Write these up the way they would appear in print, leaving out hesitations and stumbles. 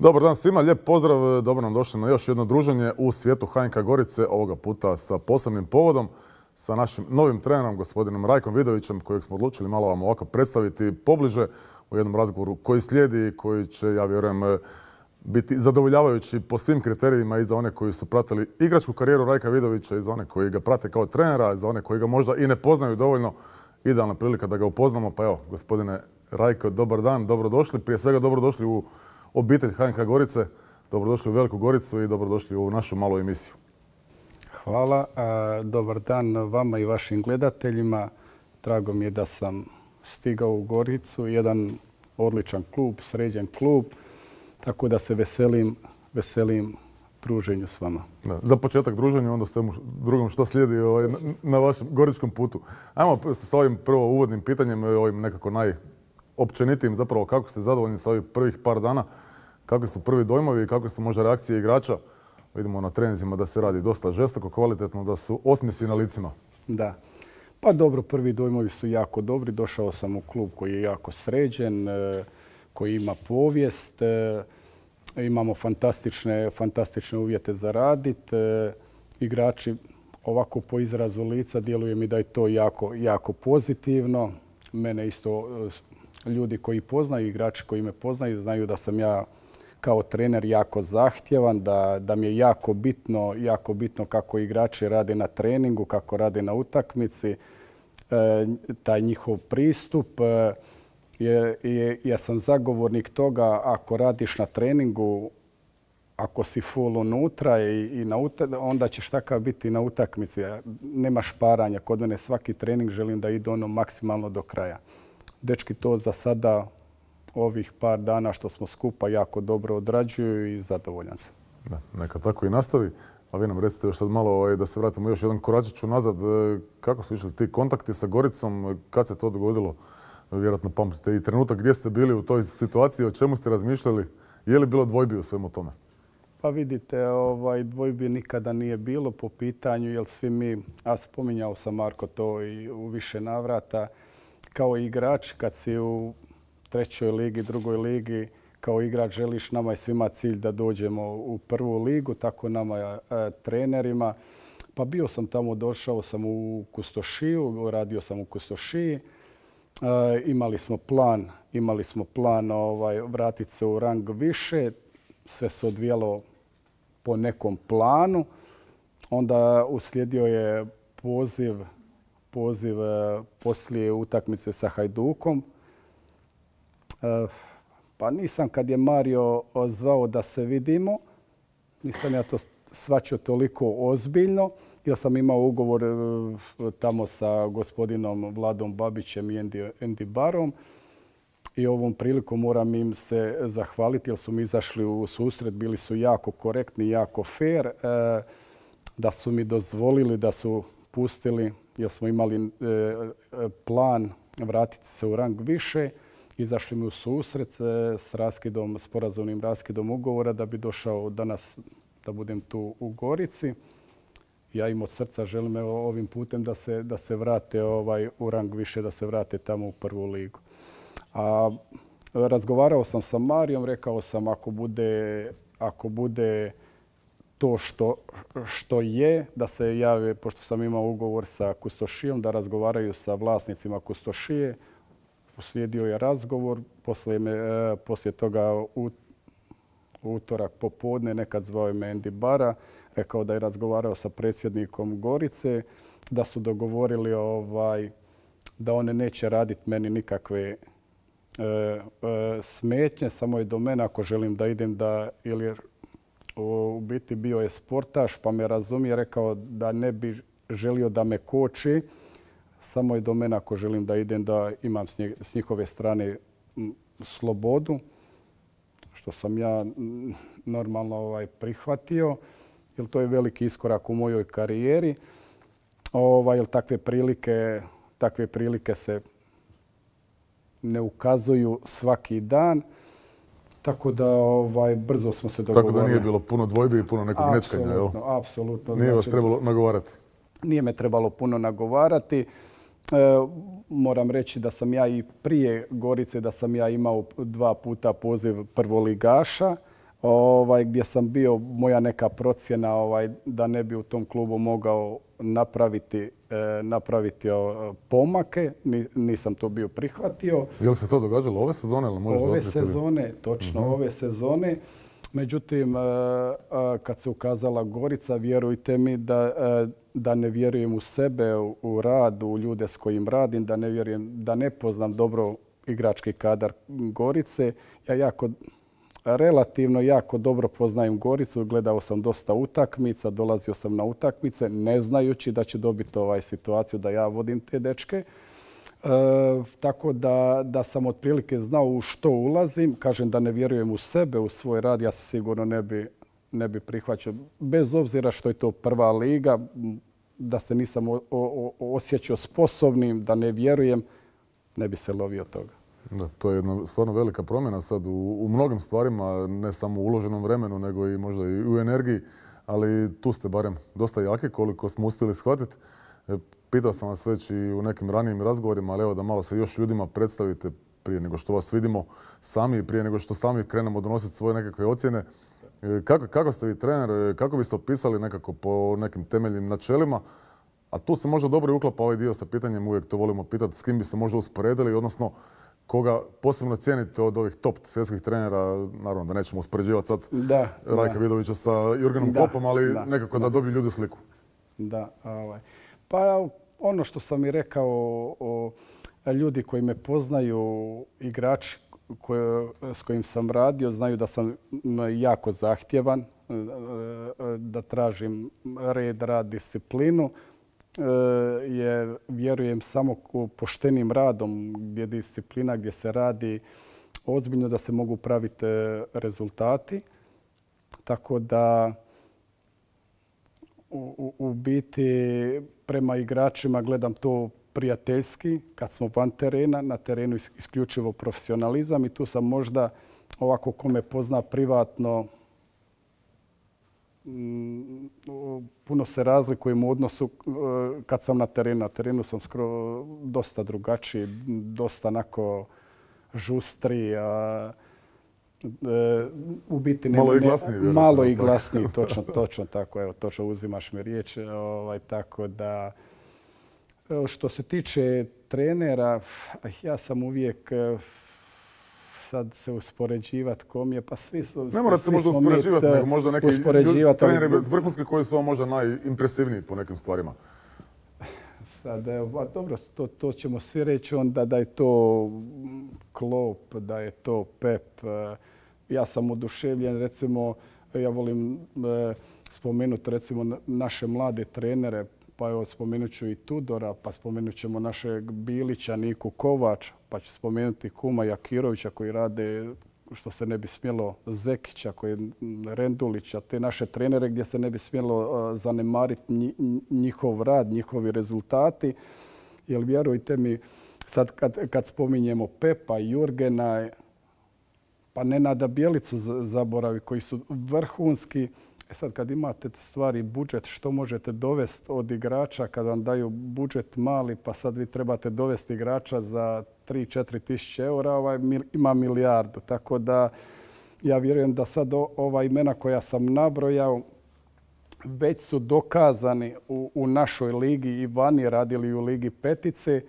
Dobar dan svima, lijep pozdrav, dobro nam došli na još jedno druženje u svijetu HNK Gorice, ovoga puta sa posebnim povodom, sa našim novim trenerom, gospodinom Rajkom Vidovićem, kojeg smo odlučili malo vam ovako predstaviti pobliže u jednom razgovoru koji slijedi i koji će, ja vjerujem, biti zadovoljavajući po svim kriterijima i za one koji su pratili igračku karijeru Rajka Vidovića i za one koji ga prate kao trenera, i za one koji ga možda i ne poznaju dovoljno. Idealna prilika da ga upoznamo, pa evo, gospodine Rajko, dobar dan, dobrodošli. Prije svega dobrodošli u obitelj HNK Gorice, dobrodošli u Veliku Goricu i dobrodošli u našu malu emisiju. Hvala, dobar dan vama i vašim gledateljima. Drago mi je da sam stigao u Goricu, jedan odličan klub, sređen klub, tako da se veselim druženju s vama. Da, za početak druženja, onda svemu drugom što slijedi na vašem goričkom putu. Ajmo sa ovim prvo uvodnim pitanjem, ovim nekako najopćenitijim zapravo, kako ste zadovoljni sa ovih prvih par dana, kakvi su prvi dojmovi i kakve su možda reakcije igrača. Vidimo na treninzima da se radi dosta žestoko, kvalitetno, da su osmjesi na licima. Da. Pa dobro, prvi dojmovi su jako dobri. Došao sam u klub koji je jako sređen, koji ima povijest. Imamo fantastične uvjete za raditi. Igrači ovako po izrazu lica djeluje mi da je to jako pozitivno. Mene isto ljudi koji poznaju, igrači koji me poznaju, znaju da sam ja kao trener jako zahtjevan, da mi je jako bitno kako igrači rade na treningu, kako rade na utakmici, taj njihov pristup. Ja sam zagovornik toga, ako radiš na treningu, ako si full unutra onda ćeš takav biti na utakmici. Nema šparanja. Kod mene svaki trening želim da ide maksimalno do kraja. Dečki to za sada, ovih par dana što smo skupa, jako dobro odrađuju i zadovoljan sam. Da, neka tako i nastavi. A vi nam recite još sad malo da se vratimo još jedan koračić unazad. Kako su išli ti kontakti sa Goricom? Kad se to dogodilo? Vjerojatno pamtite i trenutak gdje ste bili u toj situaciji, o čemu ste razmišljali? Je li bilo dvojbi u svemu tome? Pa vidite, dvojbi nikada nije bilo po pitanju, jer svi mi, a spominjao sam Marko to i u više navrata, kao igrač kad si u trećoj ligi, drugoj ligi, kao igrač želiš, nama je svima cilj da dođemo u prvu ligu, tako nama trenerima. Pa bio sam tamo, došao sam u Kustošiju, radio sam u Kustošiji. Imali smo plan vratiti se u rang više. Sve se odvijalo po nekom planu. Onda uslijedio je poziv poslije utakmice sa Hajdukom. Pa nisam, kad je Mario zvao da se vidimo, nisam ja to shvaćao toliko ozbiljno, jer sam imao ugovor tamo sa gospodinom Vladom Babićem i Andy Barom. I ovom prilikom moram im se zahvaliti jer su mi izašli u susret, bili su jako korektni, jako fair, da su mi dozvolili, da su pustili, jer smo imali plan vratiti se u rang više. Izašli mi u susret s sporazumnim raskidom ugovora da bi došao danas da budem tu u Gorici. Ja im od srca želim ovim putem da se vrate u rang više, da se vrate tamo u prvu ligu. A razgovarao sam sa Marijom, rekao sam ako bude to što je, da se jave, pošto sam imao ugovor sa Kustošijom, da razgovaraju sa vlasnicima Kustošije. Uslijedio je razgovor, poslije toga u utorak popodne nekad zvao me Andy Bara, rekao da je razgovarao sa predsjednikom Gorice, da su dogovorili da one neće raditi meni nikakve smetnje, samo je do mene ako želim da idem ili u biti bio je sportaš pa me razumije, rekao da ne bi želio da me koči, samo je do mene ako želim da idem da imam s njihove strane slobodu, što sam ja normalno prihvatio, jer to je veliki iskorak u mojoj karijeri, jer takve prilike se ne ukazuju svaki dan. Tako da brzo smo se dogovorili. Tako da nije bilo puno dvojbi i puno nekog nečkanja, jel? Apsolutno. Nije vas trebalo nagovarati? Nije me trebalo puno nagovarati. Moram reći da sam ja i prije Gorice, da sam ja imao 2 puta poziv prvoligaša, gdje sam bio, moja neka procjena da ne bi u tom klubu mogao napraviti pomake. Nisam to bio prihvatio. Je li se to događalo ove sezone? Ove sezone, točno, ove sezone. Međutim, kad se ukazala Gorica, vjerujte mi da ne vjerujem u sebe, u rad, u ljude s kojim radim, da ne vjerujem, da ne poznam dobro igrački kadar Gorice. Ja relativno jako dobro poznajem Goricu, gledao sam dosta utakmica, dolazio sam na utakmice, ne znajući da će dobiti situaciju da ja vodim te dečke. Tako da sam otprilike znao u što ulazim. Kažem da ne vjerujem u sebe, u svoj rad, ja se sigurno ne bi prihvaćao. Bez obzira što je to prva liga, da se nisam osjećao sposobnim, da ne vjerujem, ne bi se lovio toga. Da, to je jedna stvarno velika promjena sad u mnogim stvarima, ne samo u uloženom vremenu, nego i možda i u energiji, ali tu ste barem dosta jaki koliko smo uspjeli shvatiti. Pitao sam vas već i u nekim ranijim razgovorima, ali evo da malo se još ljudima predstavite prije nego što vas vidimo sami i prije nego što sami krenemo donositi svoje nekakve ocjene. Kako ste vi trener, kako biste opisali nekako po nekim temeljnim načelima? A tu se možda dobro i uklapa ovaj dio sa pitanjem, uvijek to volimo pitati, s kim biste možda usporedili, odnosno koga posebno cijenite od ovih top svjetskih trenera, naravno da nećemo uspoređivati sad Rajka Vidovića sa Jurgenom Kloppom, ali nekako da dobiju ljudi sliku. Da, pa ono što sam i rekao, ljudi koji me poznaju, igrači s kojim sam radio, znaju da sam jako zahtjevan, da tražim red, rad, disciplinu, jer vjerujem samo poštenim radom, gdje je disciplina, gdje se radi ozbiljno, da se mogu praviti rezultati. Tako da u biti prema igračima gledam to prijateljski, kad smo van terena, na terenu isključivo profesionalizam i tu sam možda ovako ko me pozna privatno, puno se razlikujem u odnosu kad sam na terenu. Na terenu sam skoro dosta drugačiji, dosta onako žustri, u biti malo i glasniji. Malo i glasniji, točno tako. Evo, točno uzimaš mi riječ. Tako da, što se tiče trenera, ja sam uvijek sad se uspoređivati kom je, pa svi su... Ne morate se možda uspoređivati, nego možda neki treneri vrhunski koji su vam možda najimpresivniji po nekim stvarima. Sad, dobro, to ćemo svi reći onda da je to Klopp, da je to Pep. Ja sam oduševljen, recimo, ja volim spomenuti recimo naše mlade trenere, pa evo spomenut ću i Tudora, pa spomenut ćemo našeg Bilića, Niku Kovač, pa ću spomenuti Kuma Jakirovića koji rade što se ne bi smjelo, Zekića, Rendulića, te naše trenere gdje se ne bi smjelo zanemariti njihov rad, njihovi rezultati. Jer vjerujte mi, sad kad spominjemo Pepa, Jurgena, pa Nenada Bjelicu zaboravi, koji su vrhunski. Sad kad imate stvari, budžet, što možete dovesti od igrača kad vam daju budžet mali, pa sad vi trebate dovesti igrača za 3-4 tisuće eura, ima milijardu. Tako da ja vjerujem da sad ova imena koja sam nabrojao već su dokazani u našoj ligi i vani, radili u Ligi petice,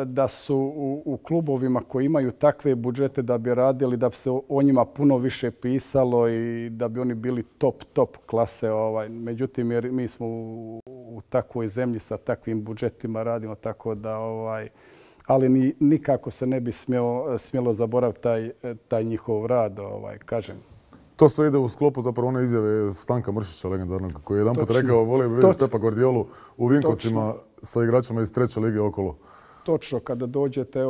da su u klubovima koji imaju takve budžete da bi radili, da bi se o njima puno više pisalo i da bi oni bili top klase. Međutim, jer mi smo u takvoj zemlji sa takvim budžetima radimo, tako da ali nikako se ne bi smjelo zaboraviti taj njihov rad, kažem. To sve ide u sklopu zapravo one izjave Stanka Mršića, legendarnog, koji je jedanput rekao volio bi vidjeti Pepa Guardiolu u Vinkovcima sa igračima iz treće lige okolo. Točno, kada dođete,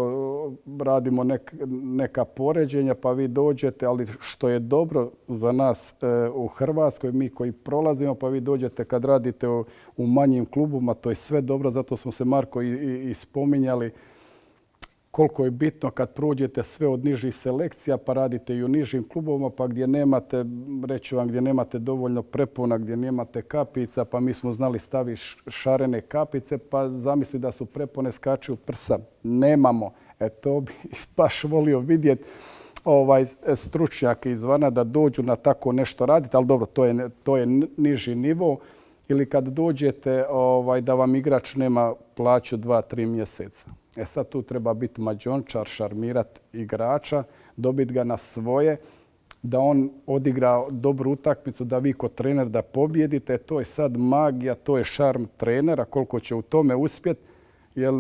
radimo neka poređenja, pa vi dođete, ali što je dobro za nas u Hrvatskoj, mi koji prolazimo, pa vi dođete kad radite u manjim klubima, to je sve dobro, zato smo se, Marko, i spominjali koliko je bitno kad prođete sve od nižih selekcija, pa radite i u nižim klubovima, pa gdje nemate, reću vam, gdje nemate dovoljno prepuna, gdje nemate kapica, pa mi smo znali staviti šarene kapice, pa zamisli da su prepone skaču prsa. Nemamo. To bi baš volio vidjeti. stručnjake izvana da dođu na tako nešto raditi, ali dobro, to je niži nivo. Ili kad dođete da vam igrač nema plaću 2-3 mjeseca. Sad tu treba biti mađončar, šarmirat igrača, dobiti ga na svoje, da on odigra dobru utakmicu, da vi kod trener da pobjedite. To je sad magija, to je šarm trenera, koliko će u tome uspjeti. Jer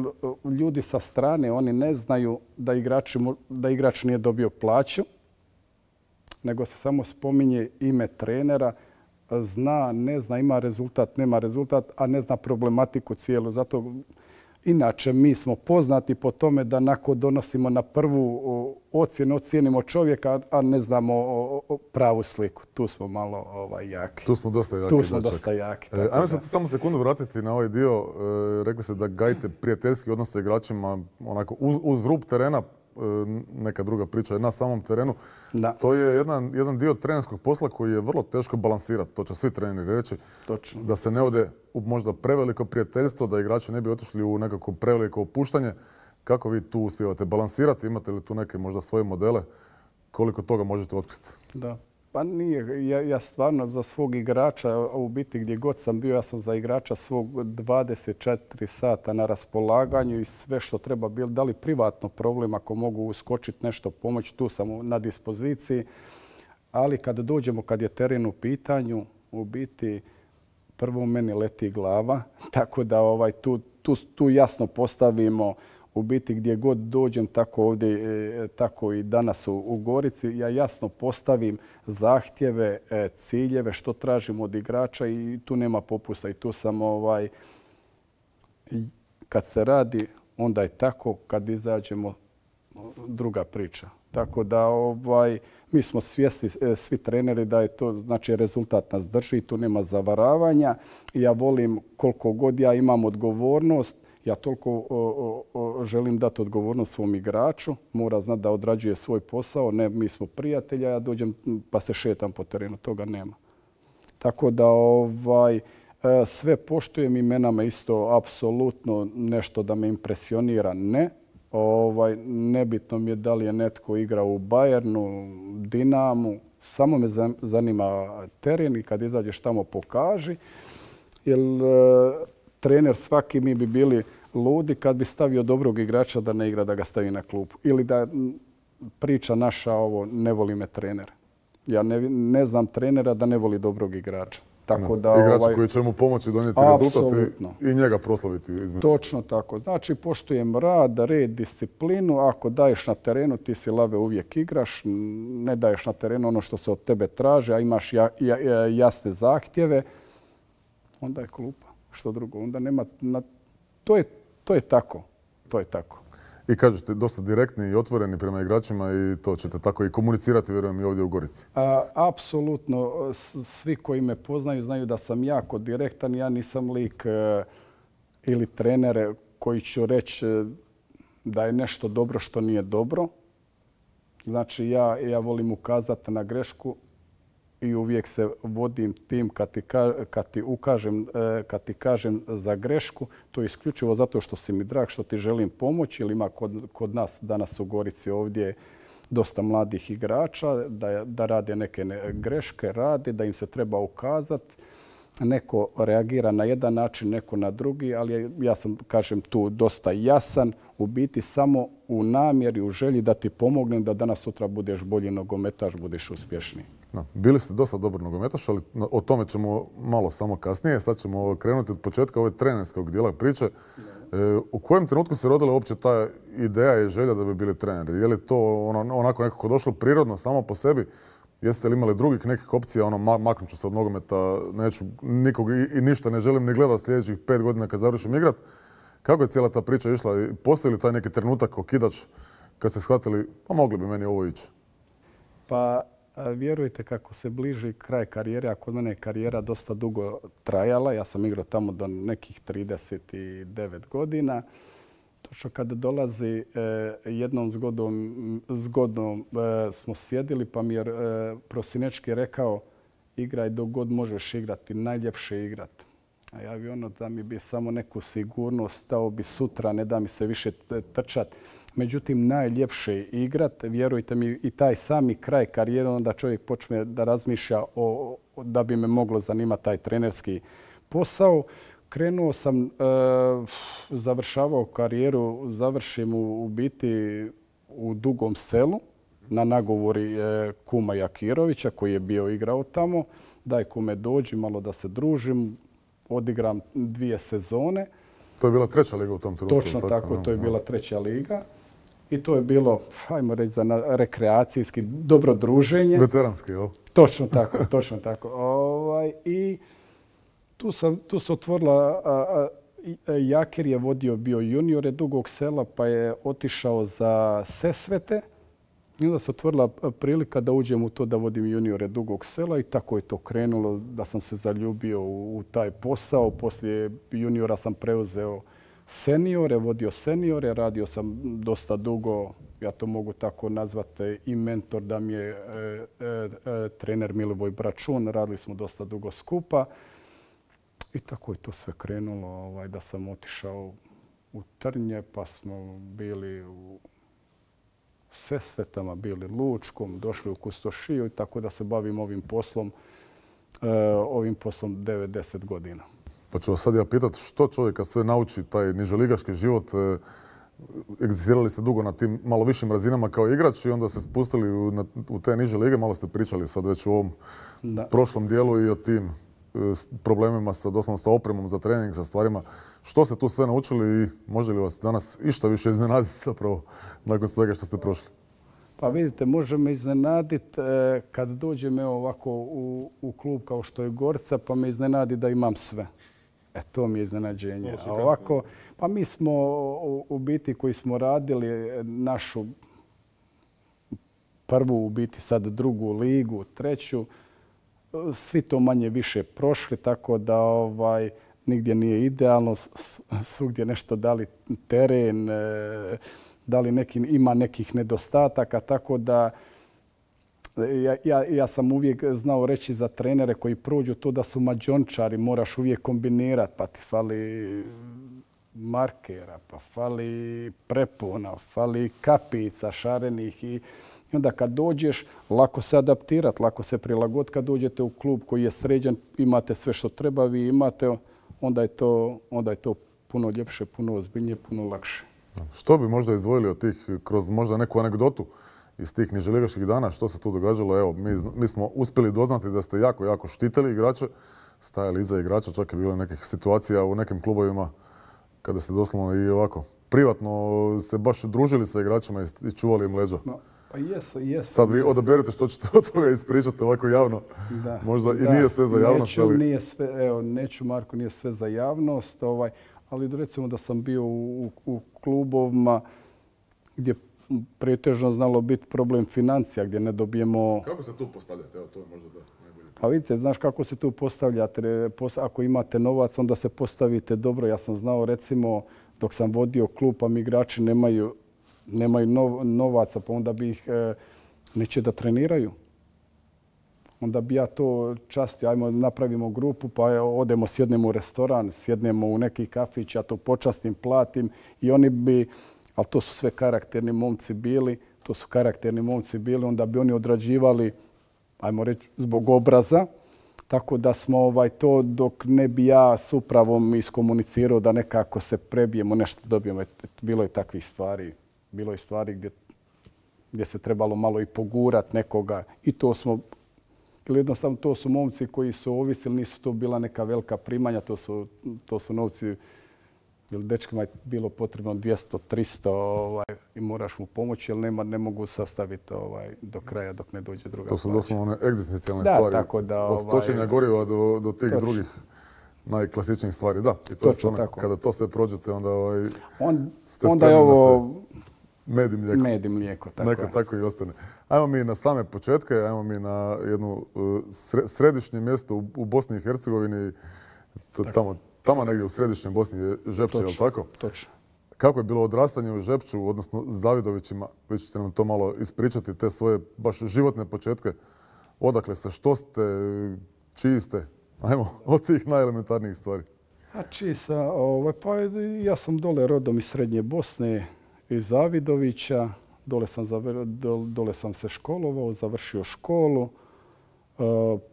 ljudi sa strane, oni ne znaju da igrač nije dobio plaću, nego se samo spominje ime trenera, zna, ne zna, ima rezultat, nema rezultat, a ne zna problematiku cijelu. Zato, inače, mi smo poznati po tome da nakon donosimo na prvu ocijenimo čovjeka, a ne znamo pravu sliku. Tu smo malo jaki. Tu smo dosta jaki. Tu smo dosta jaki. Ajmo se samo sekundu vratiti na ovaj dio. Rekli ste da gajite prijateljski odnos sa igračima onako uz rub terena, neka druga priča je na samom terenu. Da. To je jedan dio trenerskog posla koji je vrlo teško balansirati. To će svi treneri reći. Točno. Da se ne ode u možda preveliko prijateljstvo, da igrači ne bi otišli u nekako preveliko opuštanje. Kako vi tu uspijevate balansirati? Imate li tu neke možda svoje modele? Koliko toga možete otkriti? Da. Pa nije. Ja stvarno za svog igrača, u biti gdje god sam bio, ja sam za igrača svog 24 sata na raspolaganju i sve što treba bilo. Da li privatno problem, ako mogu uskočiti nešto pomoći, tu sam na dispoziciji. Ali kad dođemo, kad je teren u pitanju, u biti prvo meni leti glava. Tako da tu jasno postavimo u biti gdje god dođem, tako ovdje, tako i danas u Gorici, ja jasno postavim zahtjeve, ciljeve, što tražim od igrača i tu nema popusta. I tu sam, kad se radi, onda je tako, kad izađemo, druga priča. Tako da mi smo svjesni, svi treneri, da je to, znači rezultat nas drži, tu nema zavaravanja. Ja volim, koliko god ja imam odgovornost, ja toliko želim dati odgovornost svom igraču. Mora znati da odrađuje svoj posao. Ne, mi smo prijatelja, ja dođem pa se šetam po terenu. Toga nema. Tako da sve poštujem, imenama isto apsolutno nešto da me impresionira. Ne. Nebitno mi je da li je netko igrao u Bayernu, Dinamu. Samo me zanima teren i kad izađeš tamo pokaži. Jer trener svaki, mi bi bili ludi kad bi stavio dobrog igrača da ne igra, da ga stavi na klupu. Ili da priča naša ne voli me trener. Ja ne znam trenera da ne voli dobrog igrača. Tako da, igrač koji će mu pomoći donijeti rezultat i njega proslaviti. Točno tako. Znači, poštujem rad, red, disciplinu. Ako daješ na terenu, ti si lave uvijek igraš. Ne daješ na terenu ono što se od tebe traži, a imaš jasne zahtjeve, onda je klupa. Što drugo, onda nema... To je tako. To je tako. I kažete, dosta direktni i otvoreni prema igračima i to ćete tako i komunicirati, vjerujem, i ovdje u Gorici. Apsolutno. Svi koji me poznaju znaju da sam jako direktan. Ja nisam lik ili trener koji ću reći da je nešto dobro što nije dobro. Znači, ja volim ukazati na grešku i uvijek se vodim tim kad ti kažem za grešku. To je isključivo zato što si mi drag, što ti želim pomoći. Ili ima kod nas danas u Gorici ovdje dosta mladih igrača da rade neke greške, da im se treba ukazati. Neko reagira na jedan način, neko na drugi, ali ja sam, kažem, tu dosta jasan. U biti samo u namjeri, u želji da ti pomognem da danas sutra budeš bolji nogometaš, budeš uspješniji. Bili ste dosta dobar nogometaš, ali o tome ćemo malo samo kasnije. Sad ćemo krenuti od početka ove trenerskog dijela priče. U kojem trenutku se rodila uopće ta ideja i želja da bi bili treneri? Je li to onako nekako došlo prirodno samo po sebi? Jeste li imali drugih nekih opcija, maknut ću se od nogometa, neću nikog i ništa ne želim ni gledati sljedećih 5 godina kad završim igrat? Kako je cijela ta priča išla? Postoji li taj neki trenutak, okidač, kad ste shvatili, pa mogli bi meni ovo ići? Pa vjerujte, kako se bliži kraj karijere, a kod mene je karijera dosta dugo trajala. Ja sam igrao tamo do nekih 39 godina. Točno kada dolazi jednom zgodom smo sjedili, pa mi je Prosinečki rekao: igraj dok god možeš igrati, najljepše igrati. A ja bi da mi bi samo neku sigurnost, stao bi sutra, ne da mi se više trčat. Međutim, najljepše je igrat, vjerujte mi, i taj sami kraj karijere, onda čovjek počne da razmišlja da bi me moglo zanimati taj trenerski posao. Krenuo sam, završavao karijeru, završim u biti u Dugom Selu na nagovori kuma Jakirovića koji je bio igrao tamo. Daj kume dođi malo da se družim, odigram 2 sezone. To je bila 3. liga u tom trenutku. Točno tako, to je bila 3. liga. I to je bilo, ajmo reći, za rekreacijski dobro druženje. Veteranski, jel? Točno tako, točno tako. I tu se otvorila, Jakir je vodio bio juniore Dugog Sela, pa je otišao za Sesvete. I onda se otvorila prilika da uđem u to da vodim juniore Dugog Sela i tako je to krenulo, da sam se zaljubio u taj posao. Poslije juniora sam preuzeo seniore, vodio seniore, radio sam dosta dugo, ja to mogu tako nazvati, i mentor da mi je trener Milivoj Bračun, radili smo dosta dugo skupa. I tako je to sve krenulo, da sam otišao u Trnje, pa smo bili u Sesvetama, bili Lučkom, došli u Kustošiju i tako da se bavim ovim poslom 9-10 godina. Pa ću vas sad ja pitati što čovjeka sve nauči taj niželigaški život. Egzistirali ste dugo na tim malo višim razinama kao igrač i onda se spustili u te niže lige. Malo ste pričali sad već u ovom prošlom dijelu i o tim problemima doslovno sa opremom za trening, sa stvarima. Što ste tu sve naučili i može li vas danas išta više iznenaditi zapravo nakon svega što ste prošli? Pa vidite, može me iznenaditi kad dođem ovako u klub kao što je Gorica, pa me iznenadi da imam sve. To mi je iznenađenje. A ovako, pa mi smo u biti koji smo radili našu prvu, u biti sad 2. ligu, 3. Svi to manje više prošli, tako da nigdje nije idealno, svugdje nešto dali teren, ima nekih nedostataka, tako da ja sam uvijek znao reći za trenere koji prođu to da su mađončari, moraš uvijek kombinirati, pa ti fali markera, pa fali prepona, fali kapica šarenih i onda kad dođeš, lako se adaptirati, lako se prilagoditi. Kad dođete u klub koji je sređen, imate sve što treba, vi imate, onda je to puno ljepše, puno ozbiljnije, puno lakše. Što bi možda izdvojili od tih, kroz možda neku anegdotu iz tih niželigaških dana, što se tu događalo? Evo, mi smo uspjeli doznati da ste jako, jako štitili igrače, stajali iza igrača, čak je bilo nekih situacija u nekim klubovima kada ste doslovno i ovako privatno se baš družili sa igračima i čuvali im leđa. Pa jesu. Sad vi odaberete što ćete od toga ispričati ovako javno. Možda i nije sve za javnost. Neću, Marko, nije sve za javnost, ali recimo da sam bio u klubovima gdje pretežno znalo biti problem financija, gdje ne dobijemo... Kako se tu postavljate? Evo, to je možda najbolje. Pa vidite, znaš kako se tu postavljate. Ako imate novac, onda se postavite dobro. Ja sam znao, recimo, dok sam vodio klub, pa mi igrači nemaju novaca, pa onda bi ih neće da treniraju. Onda bi ja to častio, ajmo napravimo grupu, pa odemo, sjednemo u restoran, sjednemo u neki kafić, ja to počastim, platim i oni bi, ali to su sve karakterni momci bili, onda bi oni odrađivali, ajmo reći, zbog obraza. Tako da smo to, dok ne bi ja s upravom iskomunicirao da nekako se prebijemo, nešto dobijemo. Bilo je takvih stvari. Bilo je stvari gdje se trebalo malo i pogurat nekoga i to smo, ili jednostavno to su momci koji su ovisili, nisu to bila neka velika primanja, to su novci, ili dečkima je bilo potrebno 200, 300 i moraš mu pomoći jer ne mogu sastaviti do kraja dok ne dođe druga plaća. To su doslovno one egzistencijalne stvari, tako da, od točenja goriva do tih drugih najklasičnijih stvari. Da, i to je stvarno, kada to sve prođete, onda ste spremni je ovo med i mlijeko. Med i mlijeko, tako je. Tako i ostane. Ajmo mi na same početke, ajmo mi na jedno središnje mjesto u Bosni i Hercegovini, tamo negdje u središnjoj Bosni je Žepče, je li tako? Točno. Kako je bilo odrastanje u Žepču, odnosno Zavidovićima? Vi ćete nam to malo ispričati, te svoje baš životne početke. Odakle ste, što ste, čiji ste? Ajmo, od tih najelementarnijih stvari. A pa ja sam dole rodom iz Srednje Bosne, iz Zavidovića. Dole sam se školovao, završio školu.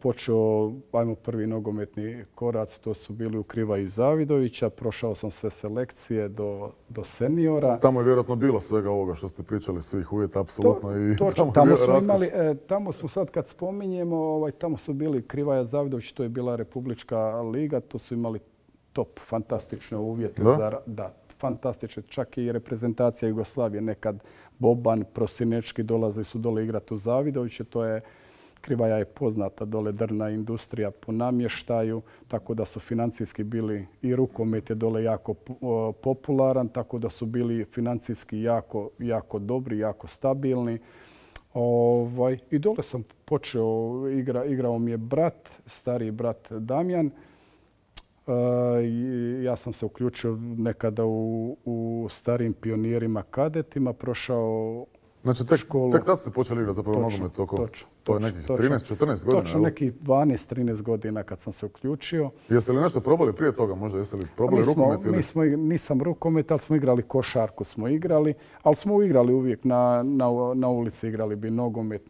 Počeo, ajmo prvi nogometni korac, to su bili u Krivaji Zavidovića. Prošao sam sve selekcije do seniora. Tamo je vjerojatno bilo svega ovoga što ste pričali, svih uvjeta, apsolutno. Tamo smo sad kad spominjemo, tamo su bili Krivaja Zavidović, to je bila Republička liga, to su imali top, fantastične uvjete. Da, fantastične. Čak i reprezentacija Jugoslavije, nekad Boban, Prosinečki dolazili su dole igrati u Zavidoviće, Krivaja je poznata dole drvna industrija po namještaju, tako da su financijski bili i rukomet je dole jako popularan, tako da su bili financijski jako dobri, jako stabilni. I dole sam počeo, igrao mi je brat, stariji brat Damjan. Ja sam se uključio nekada u starijim pionirima kadetima, prošao znači, tek tad ste počeli igrati zapravo nogomet oko? To je nekih 13-14 godina? Točno, nekih 12-13 godina kad sam se uključio. Jeste li nešto probali prije toga možda? Jeste li probali rukomet? Nisam rukomet, ali smo igrali košarku, ali smo igrali uvijek na ulici, igrali bi nogomet,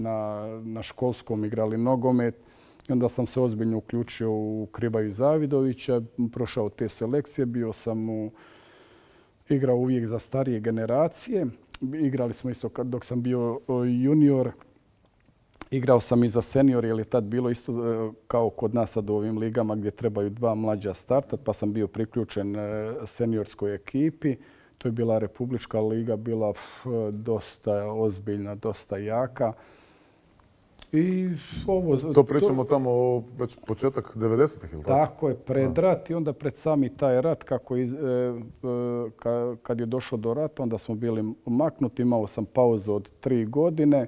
na školskom igrali nogomet. I onda sam se ozbiljno uključio u Krivaju Zavidovića, prošao te selekcije, igrao uvijek za starije generacije. Igrali smo isto dok sam bio junior. Igrao sam i za senior, jer je tad bilo isto kao kod nas sad u ovim ligama gdje trebaju dva mlađa startat, pa sam bio priključen seniorskoj ekipi. To je bila Republička liga, bila dosta ozbiljna, dosta jaka. To pričamo tamo već početak 90-ih, ili tako? Tako je, pred rat i onda pred sami taj rat, kad je došlo do rata, onda smo bili maknuti, imao sam pauzu od 3 godine.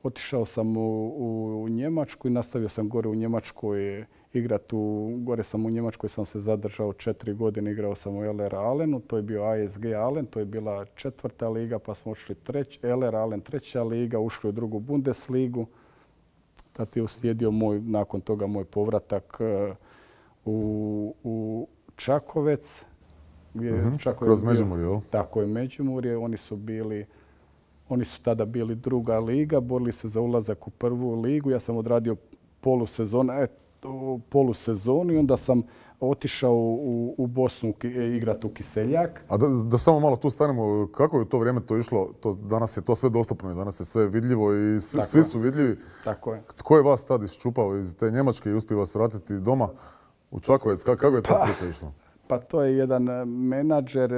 Otišao sam u Njemačku i nastavio sam gore u Njemačkoj igrati. Gore sam u Njemačkoj, sam se zadržao 4 godine, igrao sam u LR Alenu, to je bio ASG Alen, to je bila 4. liga, pa smo ušli LR Alen 3. liga, ušli u 2. Bundesligu. Tad je uslijedio nakon toga moj povratak u Čakovec. Kroz Međimurje, tako je, Međimurje. Oni su tada bili 2. liga, borili se za ulazak u 1. ligu. Ja sam odradio polusezonu i onda sam otišao u Bosnu igrati u Kiseljak. A da samo malo tu stanemo, kako je u to vrijeme to išlo? Danas je to sve dostupno i danas je sve vidljivo i svi su vidljivi. Tako je. Tko je vas tad iščupao iz te Njemačke i uspio vas vratiti doma u Čakovec? Kako je ta priča išla? Pa to je jedan menadžer,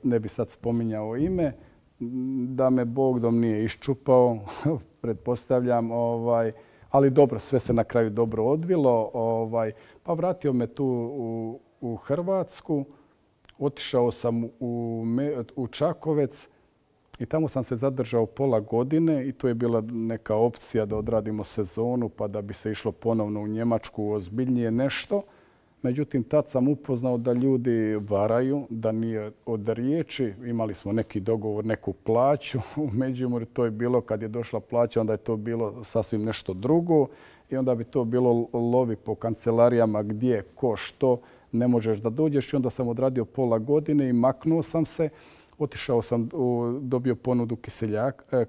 ne bi sad spominjao ime, da me Bogdom nije iščupao, pretpostavljam. Ali dobro, sve se na kraju dobro odvilo. Pa vratio me tu u Hrvatsku, otišao sam u Čakovec i tamo sam se zadržao pola godine i to je bila neka opcija da odradimo sezonu pa da bi se išlo ponovno u Njemačku ozbiljnije nešto. Međutim, tad sam upoznao da ljudi varaju, da nije od riječi. Imali smo neki dogovor, neku plaću u Međimurju. To je bilo kad je došla plaća, onda je to bilo sasvim nešto drugo. I onda bi to bilo lovi po kancelarijama gdje, ko, što, ne možeš da dođeš. I onda sam odradio pola godine i maknuo sam se. Otišao sam, dobio ponudu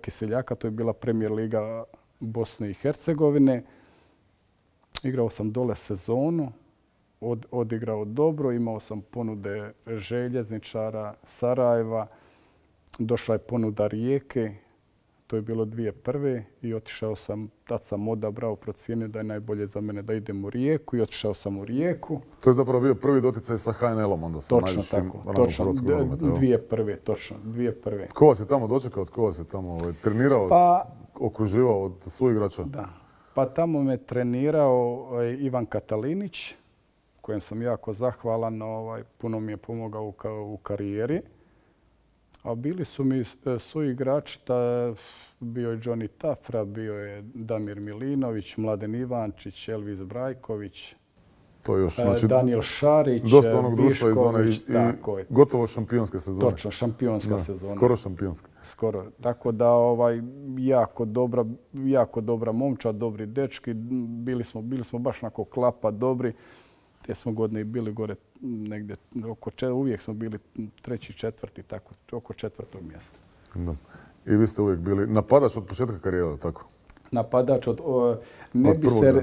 Kiseljaka, to je bila Premier liga Bosne i Hercegovine. Igrao sam dole sezonu. Odigrao dobro, imao sam ponude Željezničara, Sarajeva, došla je ponuda Rijeke, to je bilo 2001. i otišao sam, tad sam odabrao, procijenio da je najbolje za mene da idem u Rijeku i otišao sam u Rijeku. To je zapravo bio prvi doticaj sa HNL-om onda? Točno tako, točno, 2001. Točno, 2001. Tko vas je tamo dočekao, tko vas je tamo trenirao, okruživao od suigrača? Da, pa tamo me trenirao Ivan Katalinić, kojem sam jako zahvalan, puno mi je pomogao u karijeri. A bili su mi suigrači, bio je Johnny Tafra, bio je Damir Milinović, Mladen Ivančić, Elvis Brajković, Daniel Šarić, dosta onog društva iz one i gotovo šampionske sezone. Točno, šampionska sezona. Skoro šampionska. Skoro. Tako da jako dobra momčad, dobri dečki. Bili smo baš onako klapa dobri. te smo godine i bili gore negdje, uvijek smo bili treći, četvrti, tako, oko četvrtog mjesta. Da. I vi ste uvijek bili napadač od početka karijere, tako? Napadač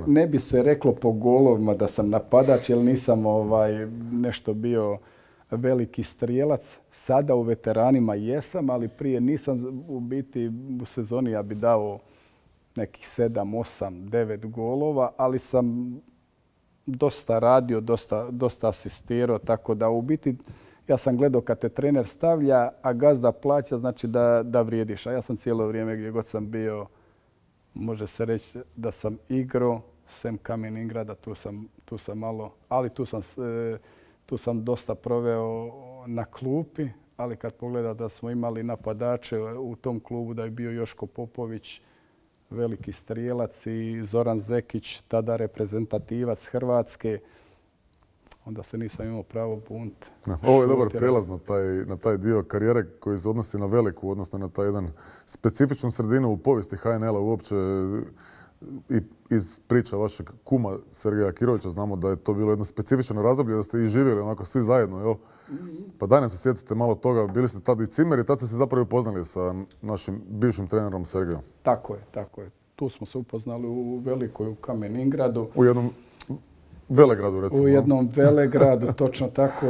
ne bi se reklo po golovima da sam napadač, jer nisam nešto bio veliki strijelac. Sada u veteranima jesam, ali prije nisam. U biti u sezoni ja bi dao nekih 7, 8, 9 golova, ali sam dosta radio, dosta asistirao, tako da u biti ja sam gledao kad te trener stavlja, a gazda plaća, znači da vrijediš. A ja sam cijelo vrijeme gdje god sam bio, može se reći da sam igrao, sem Kamen Ingrada, tu sam malo, ali tu sam dosta proveo na klupi, ali kad pogleda da smo imali napadače u tom klubu, da je bio Joško Popović, veliki strijelac, i Zoran Zekić, tada reprezentativac Hrvatske, onda se nisam imao pravo buniti. Ovo je dobar prijelaz na taj dio karijere koji se odnosi na veliku, odnosno na taj jedan specifičnu sredinu u povijesti HNL-a uopće. I iz priča vašeg kuma Sergeja Kirovića znamo da je to bilo jedno specifično razdoblje, da ste i živjeli onako svi zajedno, jel? Pa daj nam se sjetite malo toga, bili ste tad i cimer i tad ste se zapravo upoznali sa našim bivšim trenerom Sergejom. Tako je. Tu smo se upoznali u Velikoj, u Kamen Ingradu. U jednom velegradu, recimo. U jednom velegradu, točno tako.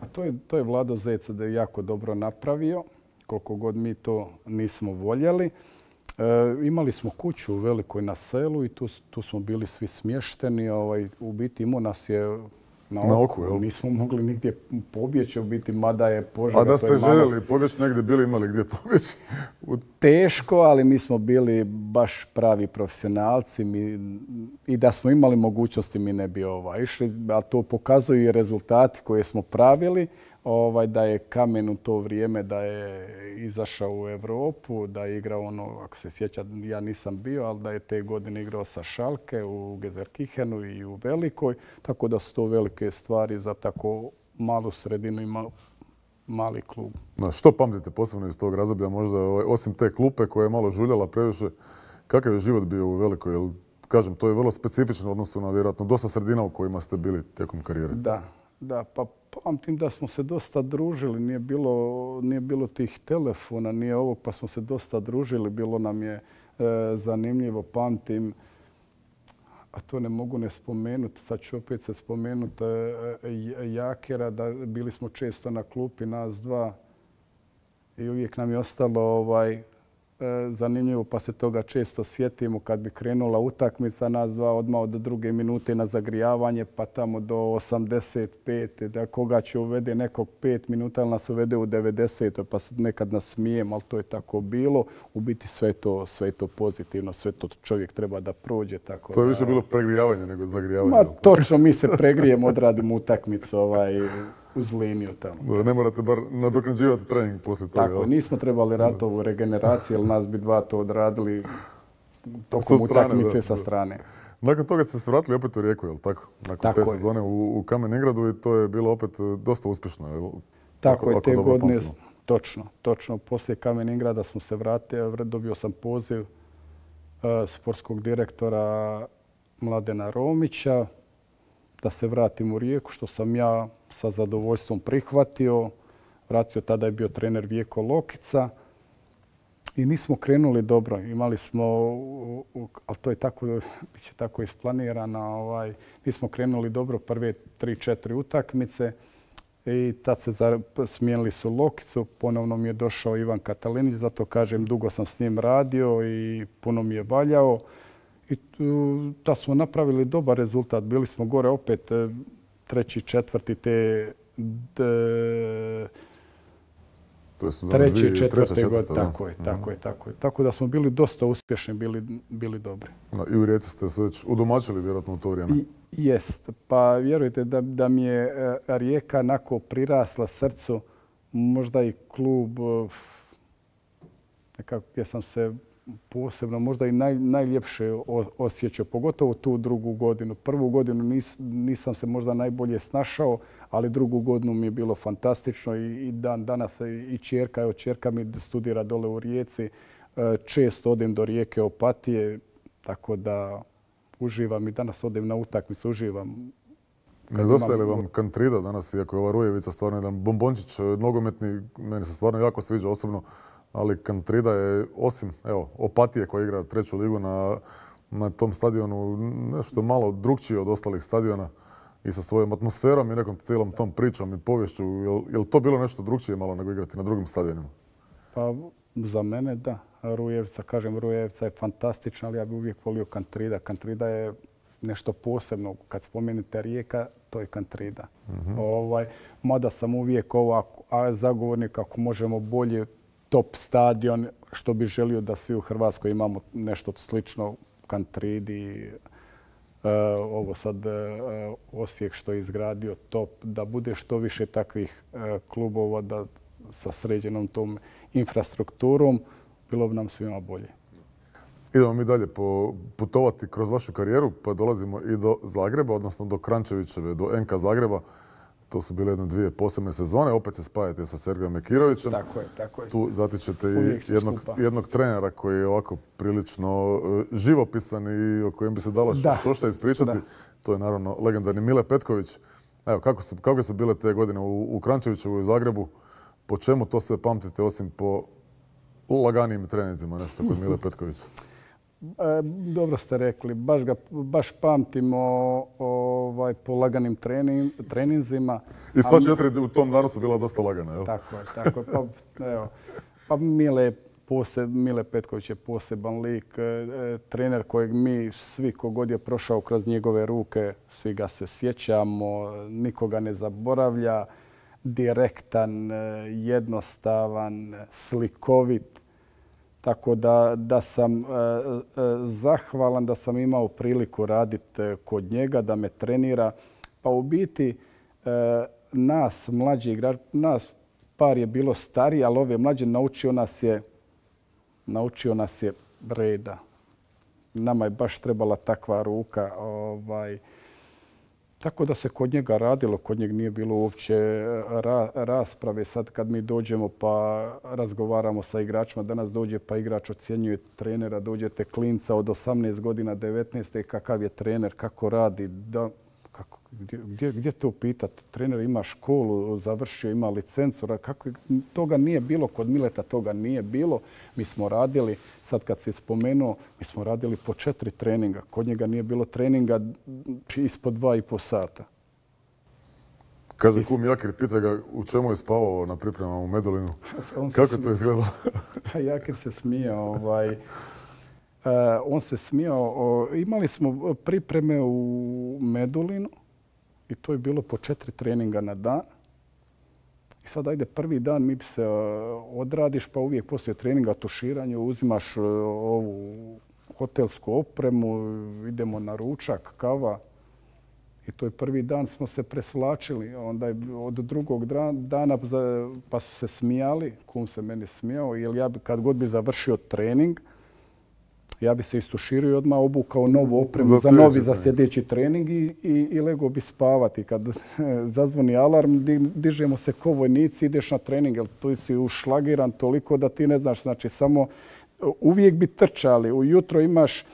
A to je Vlado Zec da je jako dobro napravio, koliko god mi to nismo voljeli. Imali smo kuću u Velikoj na selu i tu smo bili svi smješteni. U biti imao nas je na oku. Nismo mogli nigdje pobjeći, u biti, mada je Požega. A da ste željeli pobjeći negdje, bili imali gdje pobjeći? Teško, ali mi smo bili baš pravi profesionalci i da smo imali mogućnosti mi ne bi išli. A to pokazuju i rezultati koje smo pravili. Da je Kamen u to vrijeme da je izašao u Europu, da je igrao ako se sjeća, ja nisam bio, ali da je te godine igrao sa Schalke u Gelsenkirchenu i u Velikoj, tako da su to velike stvari za tako malu sredinu i mali klub. Što pamtite posebno iz tog razdoblja, možda osim te klupe koja je malo žuljala previše, kakav je život bio u Velikoj? Jer, kažem, to je vrlo specifično u odnosu na vjerojatno dosta sredina u kojima ste bili tijekom karijere. Da, pa pamtim da smo se dosta družili, nije bilo tih telefona, nije ovo, pa smo se dosta družili, bilo nam je zanimljivo, pamtim, a to ne mogu ne spomenuti, sad ću opet se spomenuti Jakera, da bili smo često na klupi, nas dva, i uvijek nam je ostalo zanimljivo, pa se toga često sjetimo kad bi krenula utakmica, nas dva odmah od druge minute na zagrijavanje, pa tamo do 85. Da koga će uvede nekog 5 minuta, ali nas uvede u 90. Pa nekad nas smijemo, ali to je tako bilo. U biti sve to pozitivno, sve to čovjek treba da prođe. Tako to je više bilo pregrijavanje nego zagrijavanje. Ma točno, mi se pregrijemo, odradimo utakmicu uz liniju tamo. Ne morate bar nadoknađivati trening poslije toga. Tako, nismo trebali ratovu regeneraciju, jer nas bi dva to odradili tokom utakmice sa strane. Nakon toga ste se vratili opet u Rijeku, je li tako? Nakon te sezone u Kamen Ingradu i to je bilo opet dosta uspješno. Tako je, te godine, točno. Poslije Kamen Ingrada smo se vratili, dobio sam poziv sportskog direktora Mladena Romića da se vratim u Rijeku, što sam ja sa zadovoljstvom prihvatio. Vratio, tada je bio trener Vjeko Lokica i nismo krenuli dobro. Imali smo, ali to je tako, bit će tako isplanirano, nismo krenuli dobro prve 3-4 utakmice i tad se smijenili su Lokicu. Ponovno mi je došao Ivan Katalinić, zato kažem dugo sam s njim radio i puno mi je valjao. I tad smo napravili dobar rezultat. Bili smo gore opet 3., 4. te 3., 4. godine. Tako je. Tako da smo bili dosta uspješni, bili dobri. I u Rijeci ste se već udomačili vjerojatno u to vrijeme. Jest. Pa vjerujte da mi je Rijeka onako prirasla srcu, možda i klub, nekako gdje sam se posebno, možda i najljepše osjećao, pogotovo tu drugu godinu. Prvu godinu nisam se možda najbolje snašao, ali drugu godinu mi je bilo fantastično i dan danas i ćerka mi studira dole u Rijeci. Često odem do Rijeke Opatije, tako da uživam i danas odem na utakmicu, uživam Nedostaje li vam Kantrida danas, iako je ova Rujevica stvarno jedan bombončić nogometni, meni se stvarno jako sviđa osobno, ali Kantrida je, osim Opatije koja igra treću ligu na tom stadionu, nešto malo drukčiji od ostalih stadiona i sa svojom atmosferom i nekom cijelom tom pričom i povješću. Je li to bilo nešto drukčije malo nego igrati na drugim stadionima? Pa za mene da. Rujevica je fantastična, ali ja bih uvijek volio Kantrida. Kantrida je nešto posebno. Kad spomenete Rijeka, to je Kantrida. Mada sam uvijek zagovornik ako možemo bolje top stadion, što bi želio da svi u Hrvatskoj imamo nešto slično Kantridi. Ovo sad Osijek što je izgradio top, da bude što više takvih klubova da sa sređenom tom infrastrukturom, bilo bi nam svima bolje. Idemo mi dalje putovati kroz vašu karijeru, pa dolazimo i do Zagreba, odnosno do Kranjčevićeve, do NK Zagreba. To su bile dvije posebne sezone. Opet se spajate sa Sergejom Mekirovićem. Tako je. Tu zatičete i jednog trenera koji je ovako prilično živopisan i o kojem bi se dalo što ispričati. To je naravno legendarni Mile Petković. Evo, kako su bile te godine u Kranjčevićevu i u Zagrebu? Po čemu to sve pamtite osim po laganijim treninzima, nešto kod Mile Petkovića? Dobro ste rekli. Baš pamtimo po laganim treninzima. I sva četiri u tom danu su bila dosta lagana, jel? Tako je. Pa Mile Petković je poseban lik. Trener kojeg mi svi kogod je prošao kroz njegove ruke, svi ga se sjećamo, nikoga ne zaboravlja. Direktan, jednostavan, slikovit. Tako da sam zahvalan da sam imao priliku raditi kod njega, da me trenira. Pa u biti nas mlađi igrači, nas par je bilo stariji, ali ove mlađe naučio nas je reda. Nama je baš trebala takva ruka. Tako da se kod njega radilo, kod njega nije bilo uopće rasprave. Sad kad mi dođemo pa razgovaramo sa igračima, danas dođe pa igrač ocjenjuje trenera, dođete klinca od 18 godina, 19. Kakav je trener, kako radi, gdje to pitati? Trener ima školu, završio, ima licencu. Toga nije bilo, kod Mileta toga nije bilo. Mi smo radili, sad kad si spomenuo, mi smo radili po 4 treninga. Kod njega nije bilo treninga ispod 2,5 sata. Kaže kum Jakir, pita ga u čemu je spavao na pripremama u Medulinu. Kako je to izgledalo? Jakir se smijao. On se smijao. Imali smo pripreme u Medulinu i to je bilo po 4 treninga na dan. I sad ajde prvi dan mi se odradiš pa uvijek poslije treninga tuširanje uzimaš ovu hotelsku opremu, idemo na ručak, kava. I to je prvi dan smo se presvlačili. Onda je od drugog dana pa su se smijali, kum se meni smijao, jer ja kad god bi završio trening, ja bi se istuširio i odmah obukao novu opremu za sljedeći trening i legao bi spavati. Kad zazvoni alarm, dižemo se ko vojnici, ideš na trening, jer tu si ušlagiran toliko da ti ne znaš. Znači, samo uvijek bi trčali. Ujutro imaš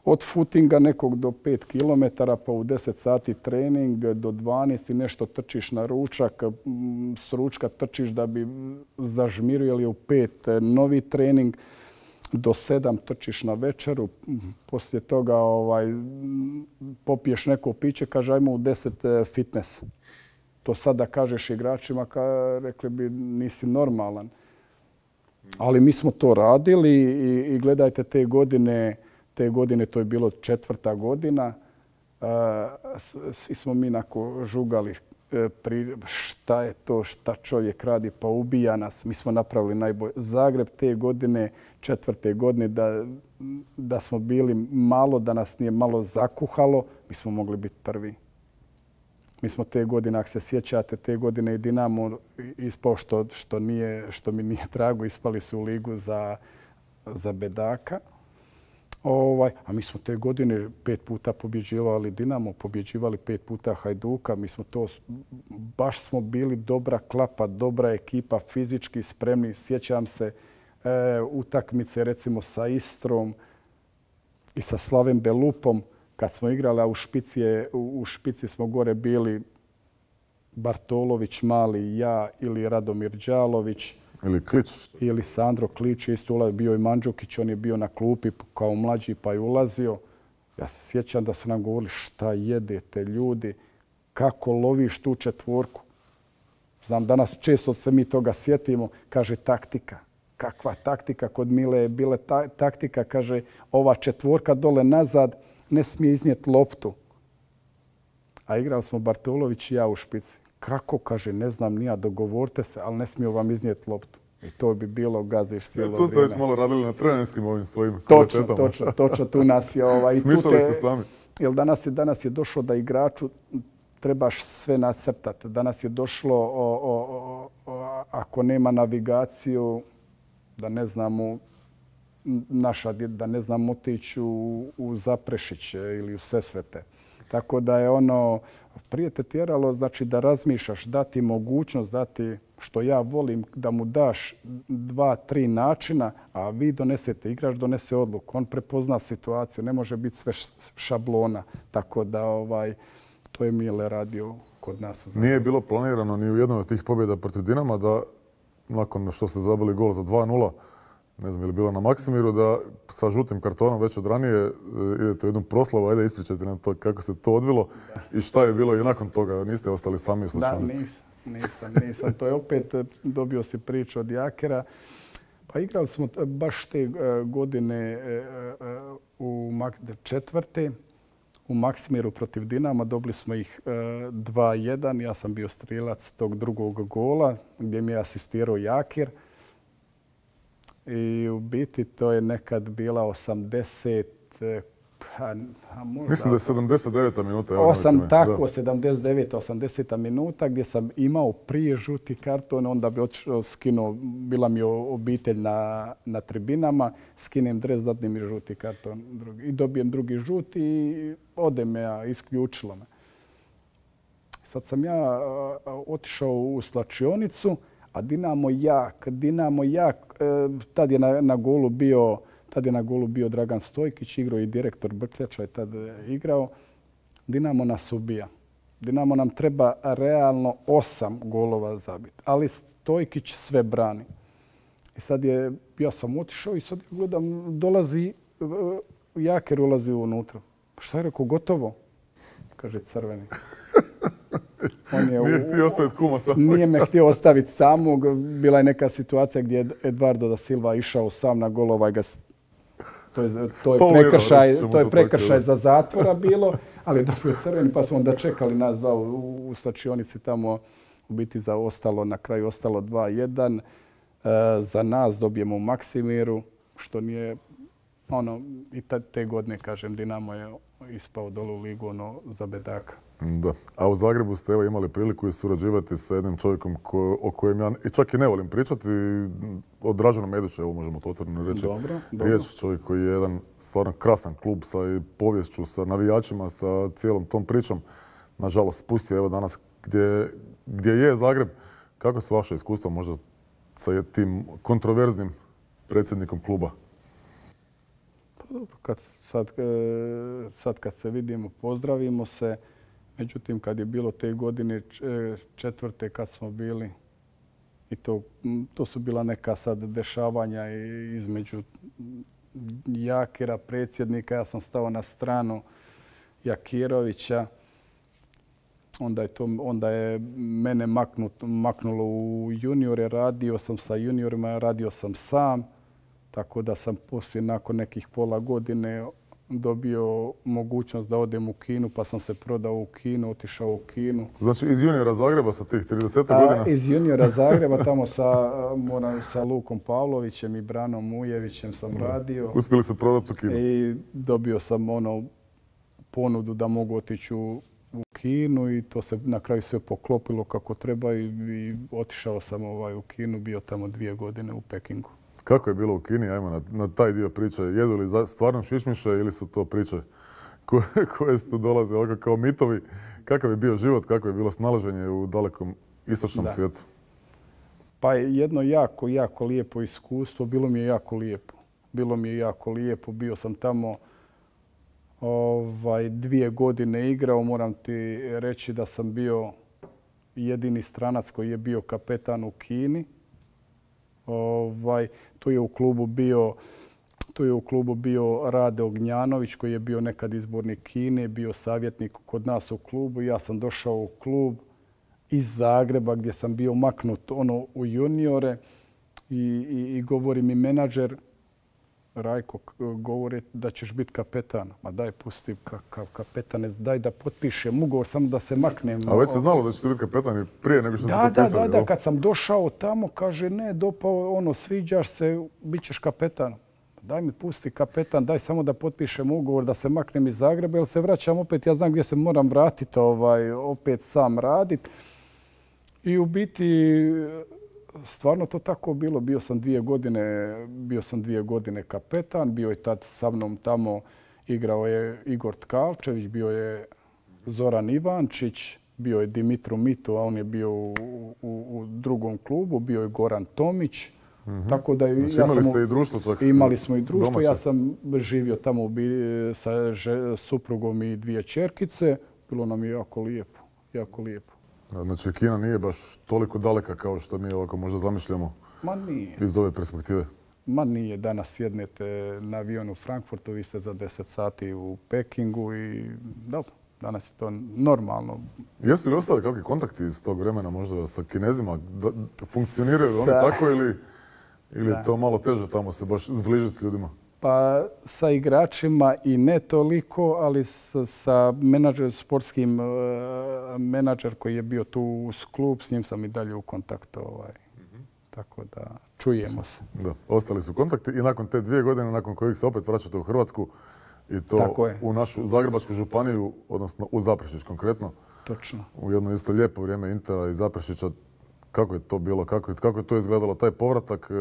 od footinga nekog do 5 km, pa u 10 sati trening, do 12 i nešto trčiš na ručak, s ručka trčiš da bi zažmirio, jer je u 5 novi trening. Do 7 trčiš na večeru, poslije toga popiješ neko piće, kaže ajmo u 10 fitness. To sad da kažeš igračima, rekli bi nisi normalan. Ali mi smo to radili i gledajte te godine, to je bilo 4. godina, svi smo mi onako žugali šta je to, šta čovjek radi, pa ubija nas. Mi smo napravili najbolje. Zagreb te godine, 4. godine, da smo bili malo, da nas nije malo zakuhalo, mi smo mogli biti prvi. Mi smo te godine, ako se sjećate, te godine i Dinamo ispao što mi nije drago, ispali su u ligu za bedaka. A mi smo te godine 5 puta pobjeđivali Dinamo, pobjeđivali 5 puta Hajduka. Mi smo baš smo bili dobra klapa, dobra ekipa, fizički spremni. Sjećam se utakmice recimo sa Istrom i sa Slavem Belupom, kad smo igrali, a u špici smo gore bili Bartolović, Mali, ja ili Radomir Đalović. Ili Klič. Ili Sandro Klič, isto bio i Mandžukić, on je bio na klupi kao mlađi pa je ulazio. Ja se sjećam da su nam govorili šta jedete ljudi, kako loviš tu četvorku. Znam, danas često se mi toga sjetimo, kaže taktika. Kakva taktika? Kod Mile je bila taktika, kaže ova četvorka dole nazad ne smije iznijeti loptu. A igrali smo Bartolović i ja u špici. Kako? Kaže, ne znam ni ja, dogovorite se, ali ne smiju vam iznijeti loptu. I to bi bilo gaziš cijelo vrijeme. Tu ste već malo radili na trenerskim ovim svojim kvalitetama. Točno, tu nas je... Smišljali ste sami. Jer danas je došlo da igraču trebaš sve nacrtati. Danas je došlo, ako nema navigaciju, da ne znamo da ne znam otići u Zaprešić ili u Sesvete. Tako da je prije te tjeralo znači da razmišljaš, dati mogućnost, dati što ja volim, da mu daš 2-3 načina, a vi donesete, igrač donese odluku. On prepozna situaciju, ne može biti sve šablona. Tako da to je Mile radio kod nas. Nije bilo planirano ni u jednoj od tih pobjeda protiv Dinama da nakon što ste zabili gol za 2-0, ne znam je li bilo na Maksimiru, da sa žutim kartonom već od ranije idete u jednu proslavu, ajde ispričajte nam to kako se to odvilo i šta je bilo i nakon toga, niste ostali sami u slučajnici. Da, nisam. To je opet, dobio si priču od Jakera. Pa igrali smo baš te godine u četvrte u Maksimiru protiv Dinama, dobili smo ih 2-1. Ja sam bio strilac tog drugog gola gdje mi je asistirao Jakir. I u biti to je nekad bila 80, mislim da je 79. minuta. 79. 80. minuta gdje sam imao prije žuti karton, onda bi skinuo, bila mi obitelj na tribinama, skinem dres, dadnem mi žuti karton i dobijem drugi žuti i ode me, isključilo me. Sad sam ja otišao u slačionicu, a Dinamo jak, tad je na golu bio Dragan Stojkić, igrao i direktor Brkljača je tad igrao. Dinamo nas ubija. Dinamo nam treba realno 8 golova zabiti, ali Stojkić sve brani. I sad ja sam otišao i sad gledam, dolazi, Jaker ulazi unutra. Šta je rekao, gotovo? Kaže crveni. Nije htio ostaviti kuma samog. Nije me htio ostaviti samog. Bila je neka situacija gdje je Eduardo da Silva išao sam na gol. To je prekršaj za zatvora bilo, ali dobio crveni pa smo onda čekali nas dva u slačionici tamo. U biti na kraju ostalo 2-1. Za nas dobijemo u Maksimiru, što nije i te godine, kažem, Dinamo je ispao dole u ligu za bedaka. Da. A u Zagrebu ste imali priliku i surađivati sa jednim čovjekom o kojem ja čak i ne volim pričati, o Draženu Mediću, evo možemo to otvoreno reći. Riječ, čovjek koji je jedan stvarno krasan klub sa poviješću, sa navijačima, sa cijelom tom pričom. Nažalost, spustio evo danas gdje je Zagreb. Kako su vaše iskustva možda sa tim kontroverznim predsjednikom kluba? Pa dobro, sad kad se vidimo, pozdravimo se. Međutim, kad je bilo te godine četvrte kad smo bili, i to su bila neka sad dešavanja između Jakira, predsjednika. Ja sam stao na stranu Jakirovića. Onda je mene maknulo u juniore. Radio sam sa juniorima, radio sam sam. Tako da sam poslije, nakon nekih pola godine, dobio mogućnost da odem u Kinu, pa sam se prodao u Kinu, otišao u Kinu. Znači iz juniora Zagreba sa tih 30 godina? Iz juniora Zagreba, tamo sa Lukom Pavlovićem i Branom Ujevićem sam radio. Uspjeli se prodati u Kinu? I dobio sam ponudu da mogu otići u Kinu i to se na kraju sve poklopilo kako treba i otišao sam u Kinu, bio tamo 2 godine u Pekingu. Kako je bilo u Kini? Ajmo na taj dio priče. Jedu li stvarno šišmiše ili su to priče koje su dolaze ovako kao mitovi? Kakav je bio život, kako je bilo snalaženje u dalekom istočnom svijetu? Pa jedno jako, jako lijepo iskustvo. Bilo mi je jako lijepo. Bio sam tamo 2 godine igrao. Moram ti reći da sam bio jedini stranac koji je bio kapetan u Kini. Tu je u klubu bio Rade Ognjanović koji je bio nekad izbornik Kine, bio savjetnik kod nas u klubu. Ja sam došao u klub iz Zagreba gdje sam bio maknut u juniore i govori mi menadžer Rajko, govori da ćeš biti kapetan. Ma daj pusti kapetane, daj da potpišem ugovor, samo da se maknem. A već se znalo da ćete biti kapetan i prije nego što ste potpisali? Da, kad sam došao tamo, kaže ne, dopao, sviđaš se, bit ćeš kapetan. Daj mi pusti kapetan, daj samo da potpišem ugovor, da se maknem iz Zagreba, jer se vraćam opet, ja znam gdje se moram vratiti, opet sam raditi. I u biti, stvarno to tako bilo. Bio sam 2 godine kapetan, bio je tad sa mnom tamo, igrao je Igor Tkalčević, bio je Zoran Ivančić, bio je Dimitru Mito, a on je bio u drugom klubu, bio je Goran Tomić. Tako da znači, imali ste i društvo čak? Imali smo i društvo. Domaće. Ja sam živio tamo sa suprugom i 2 ćerkice. Bilo nam je jako lijepo. Jako lijepo. Znači, Kina nije baš toliko daleka kao što mi ovako možda zamišljamo. Ma nije. Iz ove perspektive. Ma nije. Danas sjednete na avion u Frankfurtu, vi ste za 10 sati u Pekingu i dobro, danas je to normalno. Jesu li ostali kakvi kontakti iz tog vremena možda sa Kinezima? Funkcioniraju oni tako ili je to malo teže tamo se baš zbližiti s ljudima? Pa sa igračima i ne toliko, ali sa sportskim menadžer koji je bio tu uz klub, s njim sam i dalje u kontaktu. Tako da čujemo se. Da, ostali su kontakti i nakon te 2 godine, nakon kojih se opet vraćate u Hrvatsku i to u našu Zagrebačku županiju, odnosno u Zaprešić konkretno. Točno. U jedno isto lijepo vrijeme Intera i Zaprešića. Kako je to bilo? Kako je to izgledalo, taj povratak?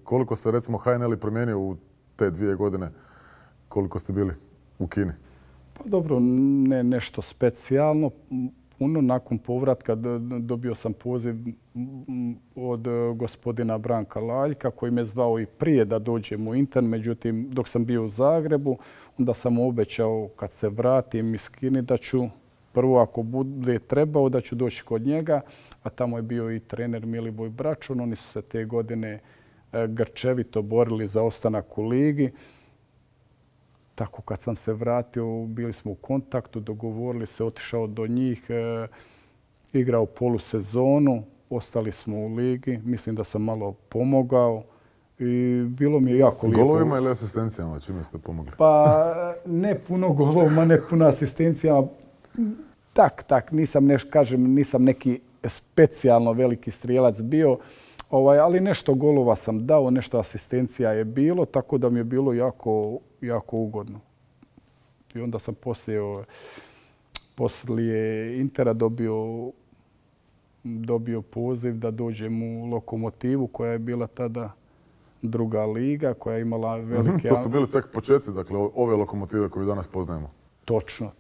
Koliko se recimo HNL promijenio u te 2 godine? Koliko ste bili u Kini? Pa dobro, ne nešto specijalno. Nakon povratka dobio sam poziv od gospodina Branka Laljka koji me zvao i prije da dođem u Inter. Međutim, dok sam bio u Zagrebu, onda sam mu obećao kad se vratim iz Kine da ću prvo ako bude trebao da ću doći kod njega, a tamo je bio i trener Miliboj Bračun. Oni su se te godine grčevito borili za ostanak u ligi. Tako kad sam se vratio, bili smo u kontaktu, dogovorili se, otišao do njih, igrao polusezonu, ostali smo u ligi. Mislim da sam malo pomogao i bilo mi je jako lijepo. Golovima ili asistencijama? Čime ste pomogli? Pa ne puno golovima, ne puno asistencijama. Tak, nisam neki specijalno veliki strijelac bio, ali nešto golova sam dao, nešto asistencija je bilo, tako da mi je bilo jako ugodno. I onda sam poslije Intera dobio poziv da dođem u Lokomotivu koja je bila tada druga liga, koja je imala velike... To su bili tek početci, dakle, ove Lokomotive koju danas poznajemo. Točno.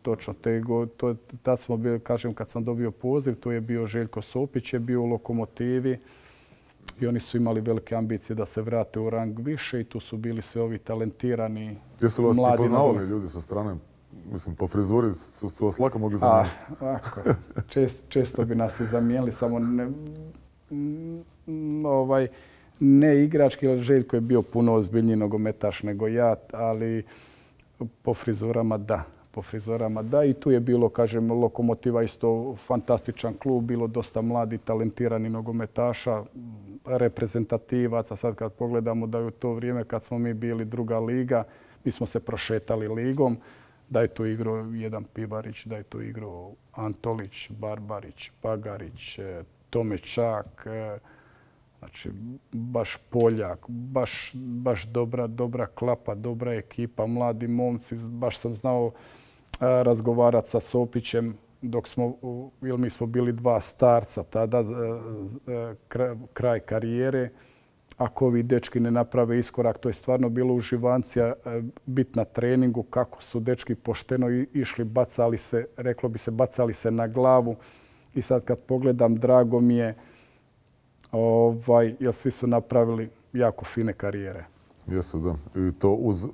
Tad smo bili, kažem, kad sam dobio poziv, to je bio Željko Sopić, je bio u Lokomotivi i oni su imali velike ambicije da se vrate u rang više i tu su bili sve ovi talentirani mladi. Jesu li vas prepoznavali ljudi sa strane? Mislim, po frizuri su vas lako mogli zamijeniti. Često bi nas i zamijenili, samo ne igrački, jer Željko je bio puno ozbiljniji nogometaš nego ja, ali po frizurama da. I tu je bilo, kažem, Lokomotiva isto fantastičan klub, bilo dosta mladi, talentirani nogometaša, reprezentativaca. Sad kad pogledamo da je u to vrijeme kad smo mi bili druga liga, mi smo se prošetali ligom, da je tu igrao jedan Pivarić, da je tu igrao Antolić, Barbarić, Bagarić, Tomečak, znači baš Poljak, baš dobra klapa, dobra ekipa, mladi momci. Baš sam znao razgovarati sa Sopićem jer mi smo bili 2 starca tada, kraj karijere. Ako ovi dečki ne naprave iskorak, to je stvarno bilo uživancija biti na treningu, kako su dečki pošteno išli, bacali se na glavu. I sad kad pogledam, drago mi je jer svi su napravili jako fine karijere. Jesu, da. I to uz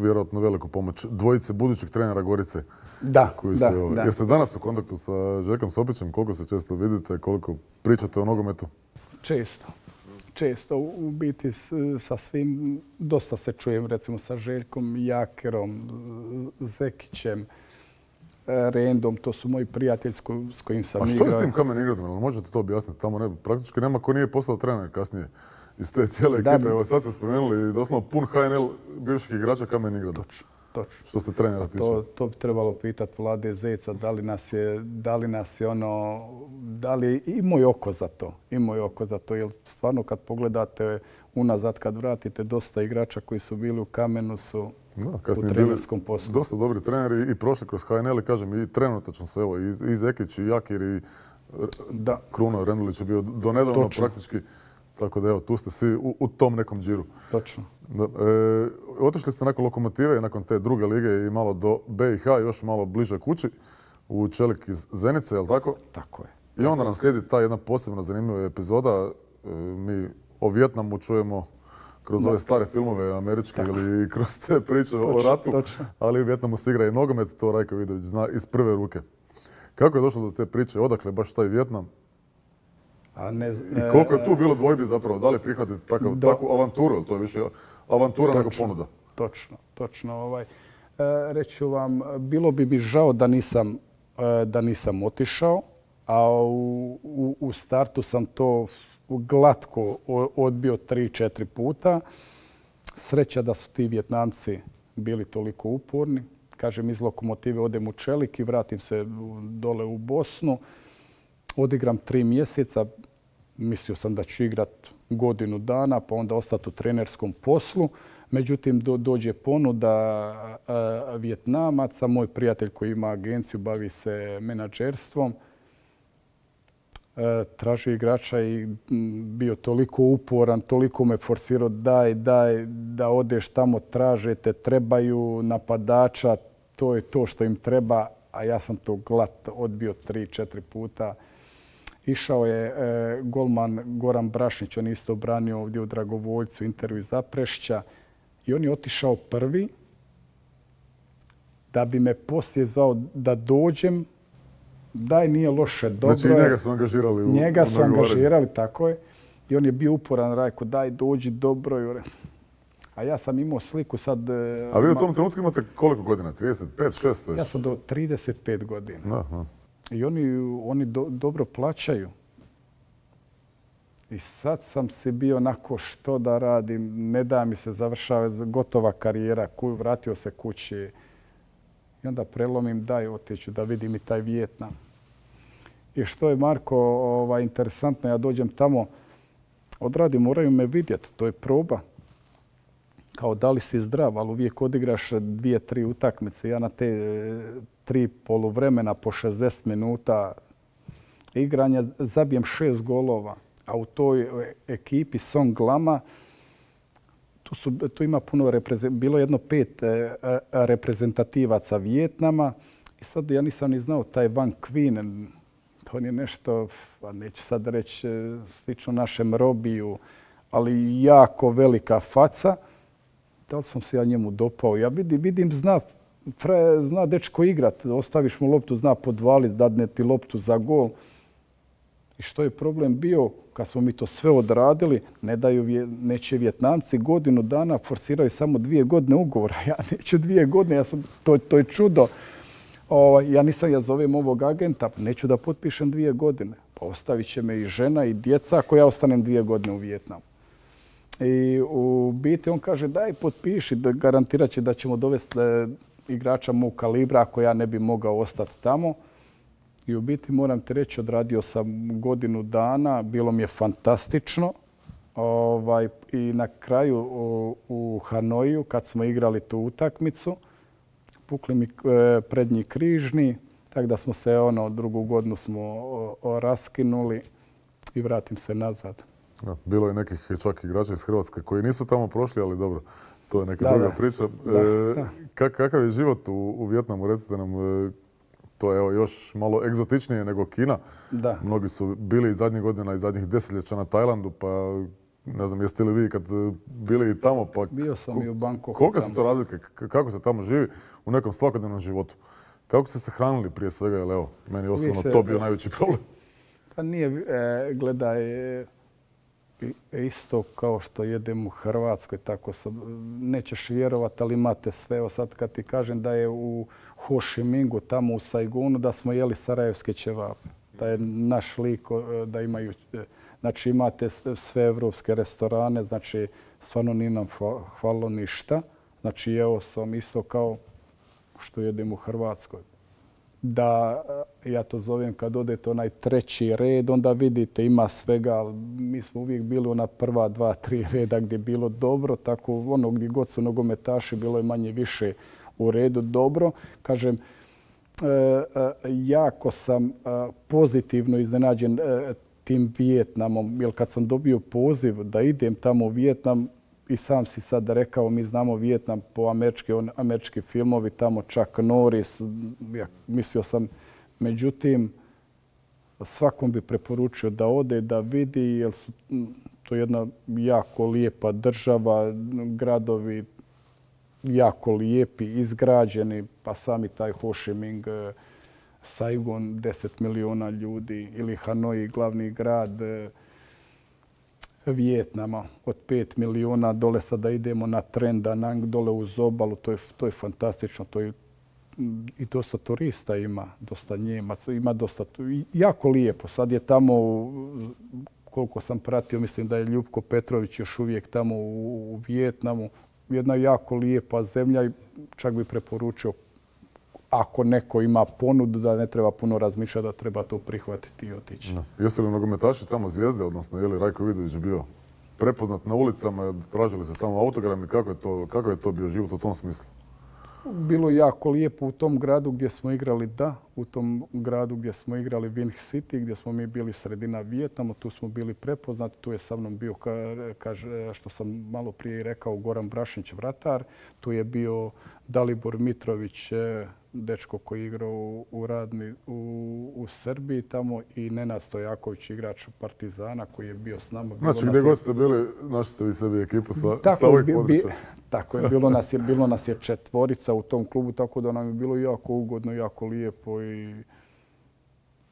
vjerojatno veliku pomoć dvojice budućih trenera Gorice. Da, da. Jeste danas u kontaktu sa Željkom Sopićem? Koliko se često vidite, koliko pričate o nogometu? Često. U biti sa svim, dosta se čujem, recimo sa Željkom Jakerom, Zekićem, Rendom, to su moji prijatelji s kojim sam igrao. A što je s tim Kamen Ingradom? Možete to objasniti? Tamo praktički nema ko nije postao trener kasnije iz te cijele ekipe. Evo sad ste spomenuli doslovno pun HNL bivših igrača Kamen Ingrada. Točno. Što se trenera tiče? To bi trebalo pitati Vlade Zeca, da li je imao je oko za to. Jer stvarno kad pogledate unazad, kad vratite, dosta igrača koji su bili u Kamenu su u trenerskom poslu. Dosta dobri treneri i prošli kroz HNL i kažem i trenutačno se evo i Zekić i Jakir i Kruno Rendulić je bio donedavno praktički. Tako da evo, tu ste svi u tom nekom džiru. Točno. Otišli ste nakon Lokomotive i nakon te druge lige i malo do BiH, još malo bliže kući, u Čelik iz Zenice, je li tako? Tako je. I onda nam slijedi ta jedna posebno zanimljiva epizoda. Mi o Vijetnamu čujemo kroz ove stare filmove američke ili kroz te priče o ratu, ali u Vijetnamu se igra i nogomet, to Rajko Vidović zna iz prve ruke. Kako je došlo do te priče? Odakle baš taj Vijetnam? I koliko je tu bilo dvojbi zapravo? Da li prihvatiti takvu avanturu? To je više avantura nego ponuda. Točno. Reću vam, bilo bi mi žao da nisam otišao, a u startu sam to glatko odbio 3-4 puta. Sreća da su ti Vijetnamci bili toliko uporni. Kažem, iz Lokomotive odem u Čelik i vratim se dole u Bosnu. Odigram 3 mjeseca, mislio sam da ću igrati godinu dana, pa onda ostati u trenerskom poslu. Međutim, dođe ponuda Vijetnamaca, moj prijatelj koji ima agenciju, bavi se menadžerstvom. Tražio igrača i bio toliko uporan, toliko me forsirao, daj, da odeš tamo, tražete, trebaju napadača, to je to što im treba, a ja sam to glat odbio 3-4 puta. Išao je golman Goran Brašnić, on je isto branio ovdje u Dragovoljcu intervju iz Zaprešća i on je otišao prvi da bi me poslije zvao da dođem. Daj, nije loše, dobro. Znači njega su angažirali. Njega su angažirali, tako je. I on je bio uporan, Rajko, daj, dođi, dobro. A ja sam imao sliku sad... A vi u tom trenutku imate koliko godina? 35, 6? Ja sam do 35 godina. Da. I oni dobro plaćaju. I sad sam si bio onako što da radim, ne da mi se završava gotova karijera, vratio se kući. I onda prelomim, daj, otiću da vidim i taj Vijetnam. I što je, Marko, interesantno, ja dođem tamo, odradim, moraju me vidjeti, to je proba. Kao da li si zdrav, ali uvijek odigraš 2-3 utakmice. Ja na te 3 poluvremena po 60 minuta igranja zabijem 6 golova. A u toj ekipi Song Lama tu ima puno bilo jedno 5 reprezentativaca Vijetnama. I sad ja nisam ni znao taj Van Queen. To je nešto, neću sad reći slično našem Robiju, ali jako velika faca. Da li sam se ja njemu dopao? Ja vidim, zna dečko igrat. Ostaviš mu loptu, zna podvaliti, dadne ti loptu za gol. I što je problem bio, kad smo mi to sve odradili, neće Vijetnamci godinu dana, forsiraju samo 2 godine ugovora. Ja neću 2 godine, to je čudo. Ja zovem ovog agenta, neću da potpišem 2 godine. Pa ostavit će me i žena i djeca ako ja ostanem 2 godine u Vijetnamu. I u biti on kaže daj potpiši, garantirat će da ćemo dovesti igrača mog kalibra ako ja ne bi mogao ostati tamo. I u biti moram ti reći, odradio sam godinu dana, bilo mi je fantastično. I na kraju u Hanoiju kad smo igrali tu utakmicu, pukli mi prednji križni, tako da smo se drugu godinu smo raskinuli i vratim se nazad. Bilo je nekih čak igrača iz Hrvatske koji nisu tamo prošli, ali dobro, to je neka druga priča. Kakav je život u Vijetnamu, recite nam, to je još malo egzotičnije nego Kina. Da. Mnogi su bili zadnjih godina i zadnjih desetljeća na Tajlandu, pa Ne znam, jeste li vi kad bili i tamo? Pa Bio sam i u Bangkoku. Kolike su to razlike? Kako se tamo živi u nekom svakodnevnom životu? Kako ste se hranili prije svega? Jer evo, meni je osobno to bio najveći problem. Pa nije, gledaj, isto kao što jedem u Hrvatskoj, tako sam, nećeš vjerovat, ali imate sve. Evo sad kad ti kažem da je u Ho Chi Minhu, tamo u Saigonu, da smo jeli sarajevske ćevape. Da je naš lik, da imaju, znači imate sve evropske restorane, znači stvarno nije nam hvalilo ništa. Znači jeo sam isto kao što jedem u Hrvatskoj. Da, ja to zovem kad odete onaj treći red, onda vidite ima svega, ali mi smo uvijek bili ona prva 2-3 reda gdje je bilo dobro, tako ono gdje god su nogometaši bilo je manje više u redu dobro. Kažem, jako sam pozitivno iznenađen tim Vijetnamom, jer kad sam dobio poziv da idem tamo u Vijetnam, i sam si sad rekao, mi znamo Vijetnam po američki filmovi, tamo Chuck Norris, ja mislio sam, međutim, svakom bi preporučio da ode, da vidi, jer su to jedna jako lijepa država, gradovi jako lijepi, izgrađeni, pa sami taj Ho Chi Minh, Saigon, 10 miliona ljudi, ili Hanoi, glavni grad Vijetnama od 5 miliona, dole sada idemo na Tren Da Nang, dole uz obalu, to je fantastično, to je i dosta turista ima, dosta Njemaca, ima dosta, jako lijepo. Sad je tamo, koliko sam pratio, mislim da je Ljupko Petrović još uvijek tamo u Vijetnamu, jedna jako lijepa zemlja i čak bi preporučio ako neko ima ponudu da ne treba puno razmišljati, da treba to prihvatiti i otići. Jesu li nogometaši tamo zvijezde, odnosno je li Rajko Vidović bio prepoznat na ulicama, tražili se tamo autogrami, kako je to bio život u tom smislu? Bilo je jako lijepo u tom gradu gdje smo igrali, u tom gradu gdje smo igrali Vinh City, gdje smo mi bili sredina Vijetnama, tu smo bili prepoznati, tu je sa mnom bio, što sam malo prije rekao, Goran Brašnić, vratar, tu je bio Dalibor Mitrović, dečko koji je igrao u Srbiji tamo, i Nenad Stojaković, igrač Partizana koji je bio s nama. Znači gdje god ste bili, našli ste vi sebi ekipu sa ovih područja. Tako je, bilo nas je 4 u tom klubu, tako da nam je bilo jako ugodno, jako lijepo i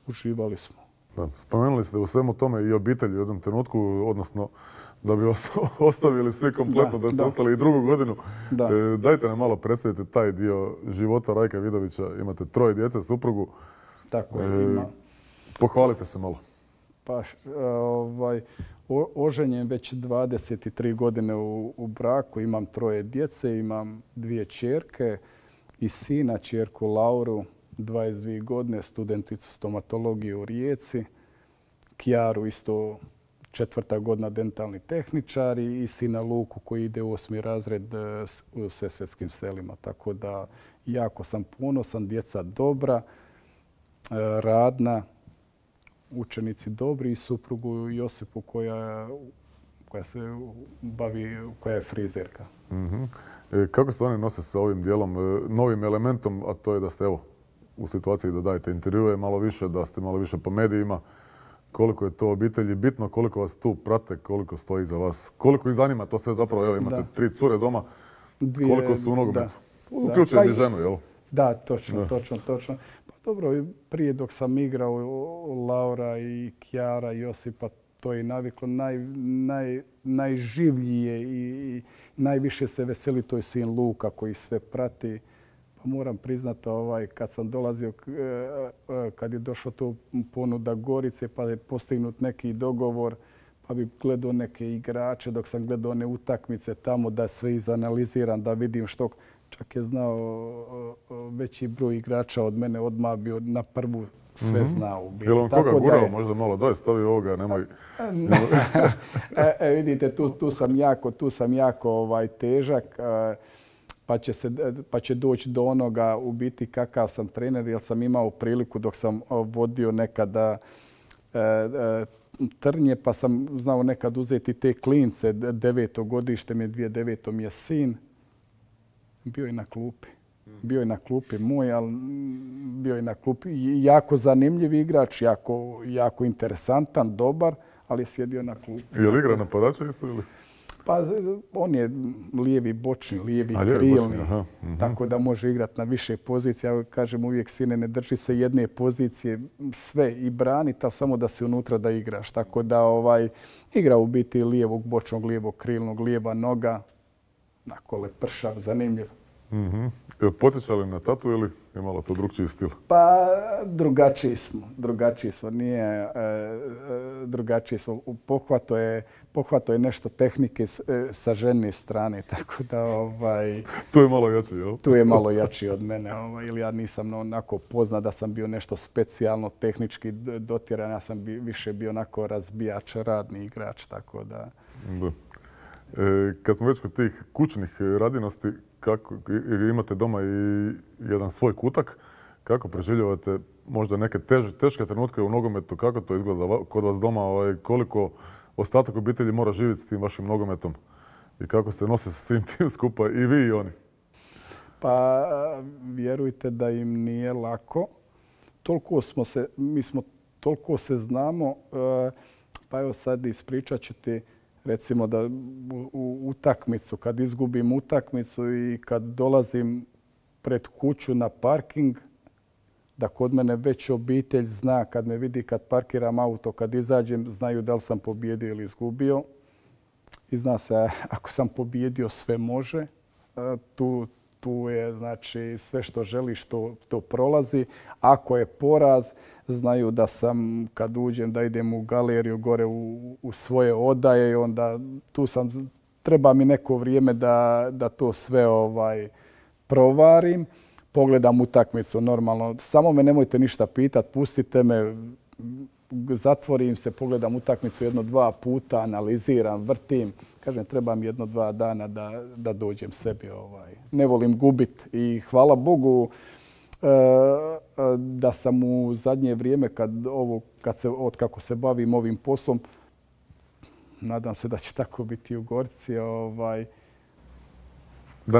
uživali smo. Da, spomenuli ste u svemu tome i obitelji u jednom trenutku, odnosno da bi vas ostavili svi kompletno, da ste ostali i drugu godinu. Dajte nam malo predstavite taj dio života Rajka Vidovića. Imate 3 djece, suprugu. Tako je, ima. Pohvalite se malo. Pa, oženjen već 23 godine u braku, imam 3 djece, imam 2 ćerke i sina, ćerku Lauru, 22 godine, studenticu stomatologije u Rijeci, Kjaru isto 4. godina dentalni tehničar i sina Luku koji ide u 8. razred u Sesvetskim selima. Tako da jako sam ponosan, djeca dobra, radna, učenici dobri i suprugu Josipu koja se bavi, koja je frizerka. Kako se oni nose sa ovim dijelom, novim elementom, a to je da ste evo u situaciji da dajete intervjue malo više, da ste malo više po medijima? Koliko je to obitelji bitno, koliko vas tu prate, koliko stoji za vas, koliko ih zanima to sve zapravo, evo imate 3 cure doma, koliko su u nogometu? Uključujem i ženu, jel? Da, točno. Pa dobro, prije dok sam igrao Laura i Kjara i Josipa, to je naviklo najživlije i najviše se veseli, to je sin Luka koji sve prati. Pa moram priznati, kad sam dolazio, kad je došlo to ponuda Gorice, pa je postignut neki dogovor, pa bi gledao neke igrače, dok sam gledao one utakmice tamo da sve izanaliziram, da vidim što. Čak je znao veći broj igrača od mene, odmah bio na prvu sve znao. Je li on koga gurao možda malo? Daj, stavi ovoga, nemoj... Vidite, tu sam jako težak. Pa će doći do onoga u biti kakav sam trener, jer sam imao priliku dok sam vodio nekada Trnje, pa sam znao nekad uzeti te klince, 9. godište mi je, 2009. mi je sin, bio je na klupi moj, ali bio je na klupi. Jako zanimljiv igrač, jako interesantan, dobar, ali je sjedio na klupi. Je li igra napadača isto ili? Pa on je lijevi bočni, lijevi lijevi krilni, bočni, aha, tako da može igrati na više pozicija. Ja kažem uvijek, sine, ne drži se jedne pozicije, sve i braniti, a samo da si unutra da igraš. Tako da igra u biti lijevog bočnog, lijevog krilnog, lijeva noga, onako lepršav, zanimljiv. Potiče li na tatu ili je malo to drugčiji stil? Pa drugačiji smo, nije drugačiji smo. Pohvato je nešto tehnike sa žene strane, tako da Tu je malo jači, jel? Tu je malo jači od mene, ili ja nisam onako poznat da sam bio nešto specijalno tehnički dotjeran, ja sam više bio onako razbijač, radni igrač, tako da. Da. Kad smo već kod tih kućnih radinosti, kako imate doma i jedan svoj kutak, kako preživljavate možda neke teške trenutke u nogometu, kako to izgleda kod vas doma, koliko ostatak obitelji mora živjeti s tim vašim nogometom i kako se nose sa svim tim skupa i vi i oni? Pa vjerujte da im nije lako. Toliko se znamo, pa evo sad ispričat ću ti. Recimo da u utakmicu, kad izgubim utakmicu i kad dolazim pred kuću na parking, da kod mene već obitelj zna, kad me vidi kad parkiram auto, kad izađem, znaju da li sam pobijedio ili izgubio. I zna se, ako sam pobijedio, sve može. Tu je, znači, sve što želiš, to prolazi. Ako je poraz, znaju da sam, kad uđem, da idem u galeriju gore u svoje odaje, onda tu sam, treba mi neko vrijeme da to sve provarim. Pogledam utakmicu normalno. Samo me nemojte ništa pitati, pustite me, zatvorim se, pogledam utakmicu 1-2 puta, analiziram, vrtim. Kažem, treba mi 1-2 dana da dođem sebi. Ne volim gubit i hvala Bogu da sam u zadnje vrijeme, kako se bavim ovim poslom, nadam se da će tako biti u Gorici. Da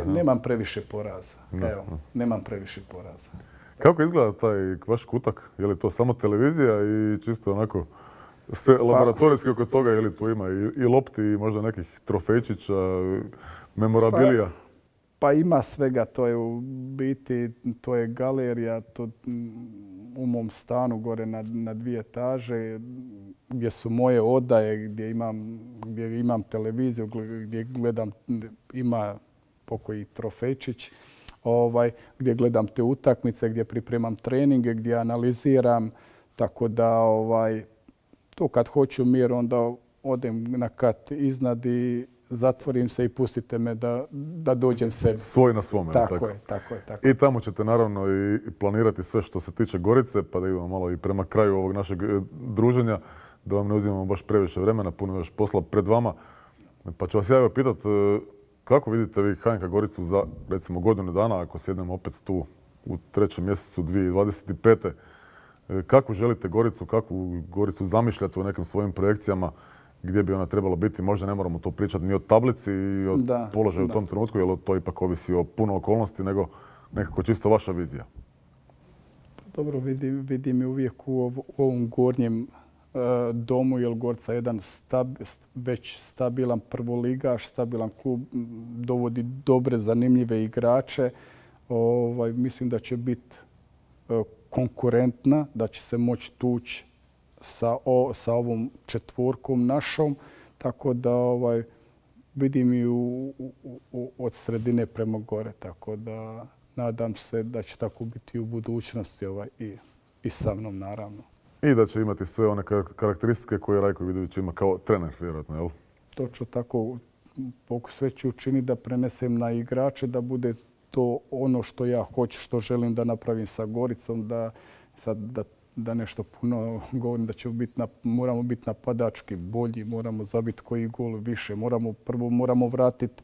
nemam previše poraza. Evo, nemam previše poraza. Kako izgleda taj vaš kutak? Je li to samo televizija i čisto onako sve laboratorijski oko toga, je li tu ima i lopti i možda nekih trofejčića, memorabilija? Pa ima svega, to je u biti, to je galerija u mom stanu gore na 2 etaže gdje su moje odaje, gdje imam televiziju, gdje gledam, ima pokoji trofejčić, gdje gledam te utakmice, gdje pripremam treninge, gdje analiziram, tako da to kad hoću mir, onda odem na kat iznad i zatvorim se i pustite me da dođem sebi. Svoj na svome. Tako je. I tamo ćete naravno i planirati sve što se tiče Gorice, pa da idemo malo i prema kraju ovog našeg druženja, da vam ne uzimamo baš previše vremena, puno još posla pred vama. Pa ću vas ja pitati, kako vidite vi HNK Goricu za recimo godinu dana, ako sjednemo opet tu u 3. mjesecu 2025. Kako želite Goricu, kakvu Goricu zamišljate u nekim svojim projekcijama, gdje bi ona trebala biti? Možda ne moramo to pričati ni o tablici i o položaju u tom trenutku, jer to ipak ovisi o puno okolnosti, nego nekako čisto vaša vizija. Dobro, vidim je uvijek u ovom gornjem domu, jer Gorica je jedan već stabilan prvoligaš, stabilan klub, dovodi dobre, zanimljive igrače. Mislim da će biti konkurentna, da će se moći tući sa ovom četvorkom našom, tako da vidim i od sredine prema gore, tako da nadam se da će tako biti u budućnosti i sa mnom naravno. I da će imati sve one karakteristike koje Rajko Vidović ima kao trener, vjerojatno, jel? Točno tako. Sve ću učiniti da prenesem na igrače, da bude to ono što ja hoću, što želim da napravim sa Goricom, da nešto puno govorim, da moramo biti napadački bolji, moramo zabiti koji gol više, moramo vratiti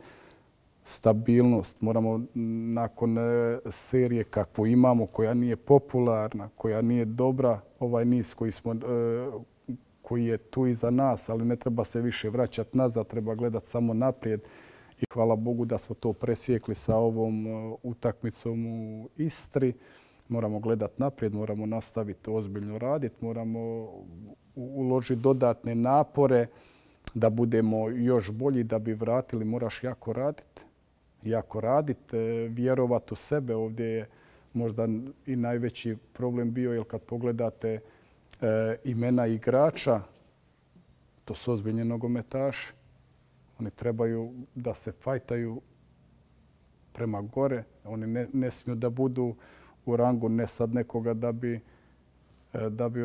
stabilnost, moramo nakon serije kakvu imamo, koja nije popularna, koja nije dobra, ovaj niz koji je tu iza nas, ali ne treba se više vraćati nazad, treba gledati samo naprijed. I hvala Bogu da smo to presjekli sa ovom utakmicom u Istri. Moramo gledati naprijed, moramo nastaviti ozbiljno raditi, moramo uložiti dodatne napore da budemo još bolji, da bi vratili. Moraš jako raditi. Jako raditi, vjerovati u sebe. Ovdje je možda i najveći problem bio, jer kad pogledate imena igrača, to su ozbiljni nogometaši. Oni trebaju da se fajtaju prema gore. Oni ne smiju da budu u rangu ne sad nekoga da bi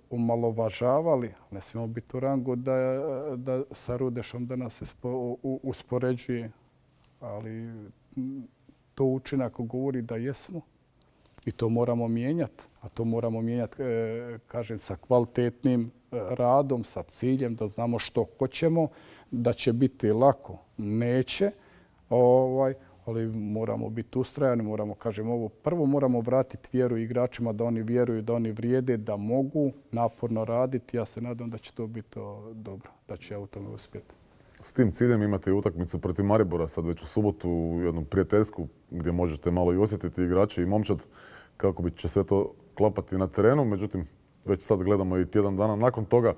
omalovažavali. Ne smijemo biti u rangu da sa Rudešom da nas se uspoređuje. Ali to učinak govori da jesmo i to moramo mijenjati. A to moramo mijenjati, kažem, sa kvalitetnim radom, sa ciljem da znamo što hoćemo, da će biti lako. Neće, ali moramo biti ustrajani, moramo, kažem, ovo prvo moramo vratiti vjeru igračima, da oni vjeruju, da oni vrijede, da mogu naporno raditi. Ja se nadam da će to biti dobro, da će ja u tome uspjeti. S tim ciljem imate i utakmicu protiv Maribora sad već u subotu, jednu prijateljsku gdje možete malo i osjetiti igrače i momčad kako će sve to klapati na terenu. Međutim, već sad gledamo i tjedan dana nakon toga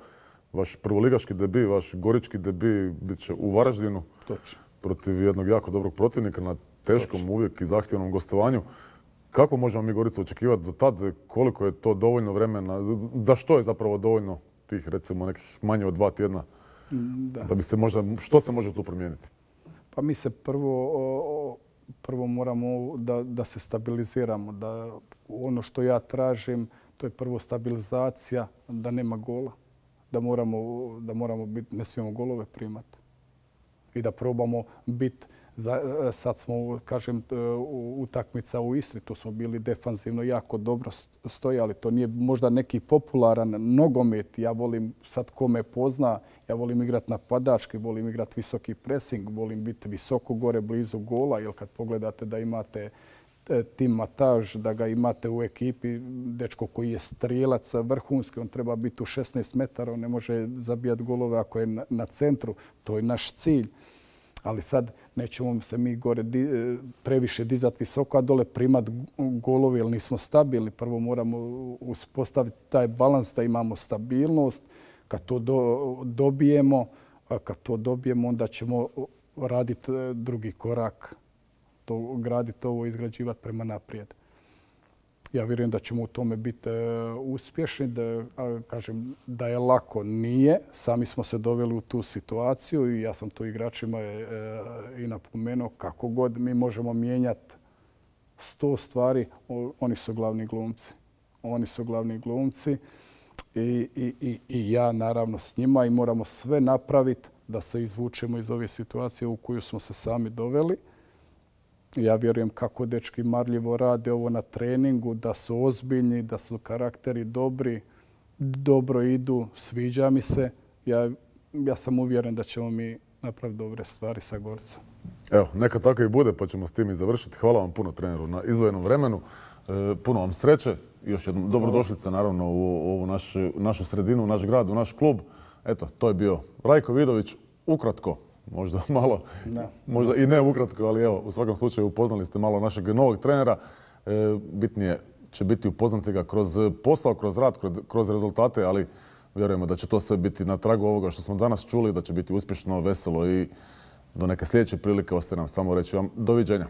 vaš prvoligaški debi, vaš gorički debi bit će u Varaždinu. Točno. Protiv jednog jako dobrog protivnika na teškom uvijek i zahtjevnom gostovanju. Kako možemo mi Goricu očekivati do tad? Koliko je to dovoljno vremena? Za što je zapravo dovoljno tih recimo nekih manje od 2 tjedna? Da bi se možda, što se može tu promijeniti? Pa mi se prvo moramo da se stabiliziramo. Da ono što ja tražim, to je prvo stabilizacija, da nema gola. Da moramo biti, ne smijemo golove primati. I da probamo biti, sad smo, kažem, utakmica u Istri, tu smo bili defanzivno jako dobro stojali. To nije možda neki popularan nogomet. Ja volim, sad ko me pozna, ja volim igrati napadački, volim igrati visoki pressing, volim biti visoko gore, blizu gola. Jer kad pogledate da imate Tim Mataž, da ga imate u ekipi, dečko koji je strijelac vrhunski, on treba biti u 16 metara, on ne može zabijati golove ako je na centru. To je naš cilj. Ali sad nećemo se mi gore previše dizati visoko, a dole primati golove jer nismo stabilni. Prvo moramo uspostaviti taj balans da imamo stabilnost. Kad to dobijemo, onda ćemo raditi drugi korak. Graditi ovo, izgrađivati prema naprijed. Ja vjerujem da ćemo u tome biti uspješni. Kažem da je lako, nije. Sami smo se doveli u tu situaciju i ja sam to igračima i napomenuo. Kako god mi možemo mijenjati 100 stvari, oni su glavni glumci. Oni su glavni glumci i ja naravno s njima i moramo sve napraviti da se izvučemo iz ove situacije u koju smo se sami doveli. Ja vjerujem kako dečki marljivo rade ovo na treningu, da su ozbiljni, da su karakteri dobri, dobro idu, sviđa mi se. Ja sam uvjeren da ćemo mi napraviti dobre stvari sa Goricom. Evo, neka tako i bude, pa ćemo s tim i završiti. Hvala vam puno, treneru, na izdvojenom vremenu. Puno vam sreće. Još jednom dobrodošlice, naravno, u ovu našu sredinu, u naš grad, u naš klub. Eto, to je bio Rajko Vidović, ukratko. Možda malo, možda i ne ukratko, ali evo, u svakom slučaju upoznali ste malo našeg novog trenera. Bitnije će biti upoznati ga kroz posao, kroz rad, kroz rezultate, ali vjerujemo da će to sve biti na tragu ovoga što smo danas čuli, da će biti uspješno, veselo i do neke sljedeće prilike ostaje nam samo reći vam doviđenja.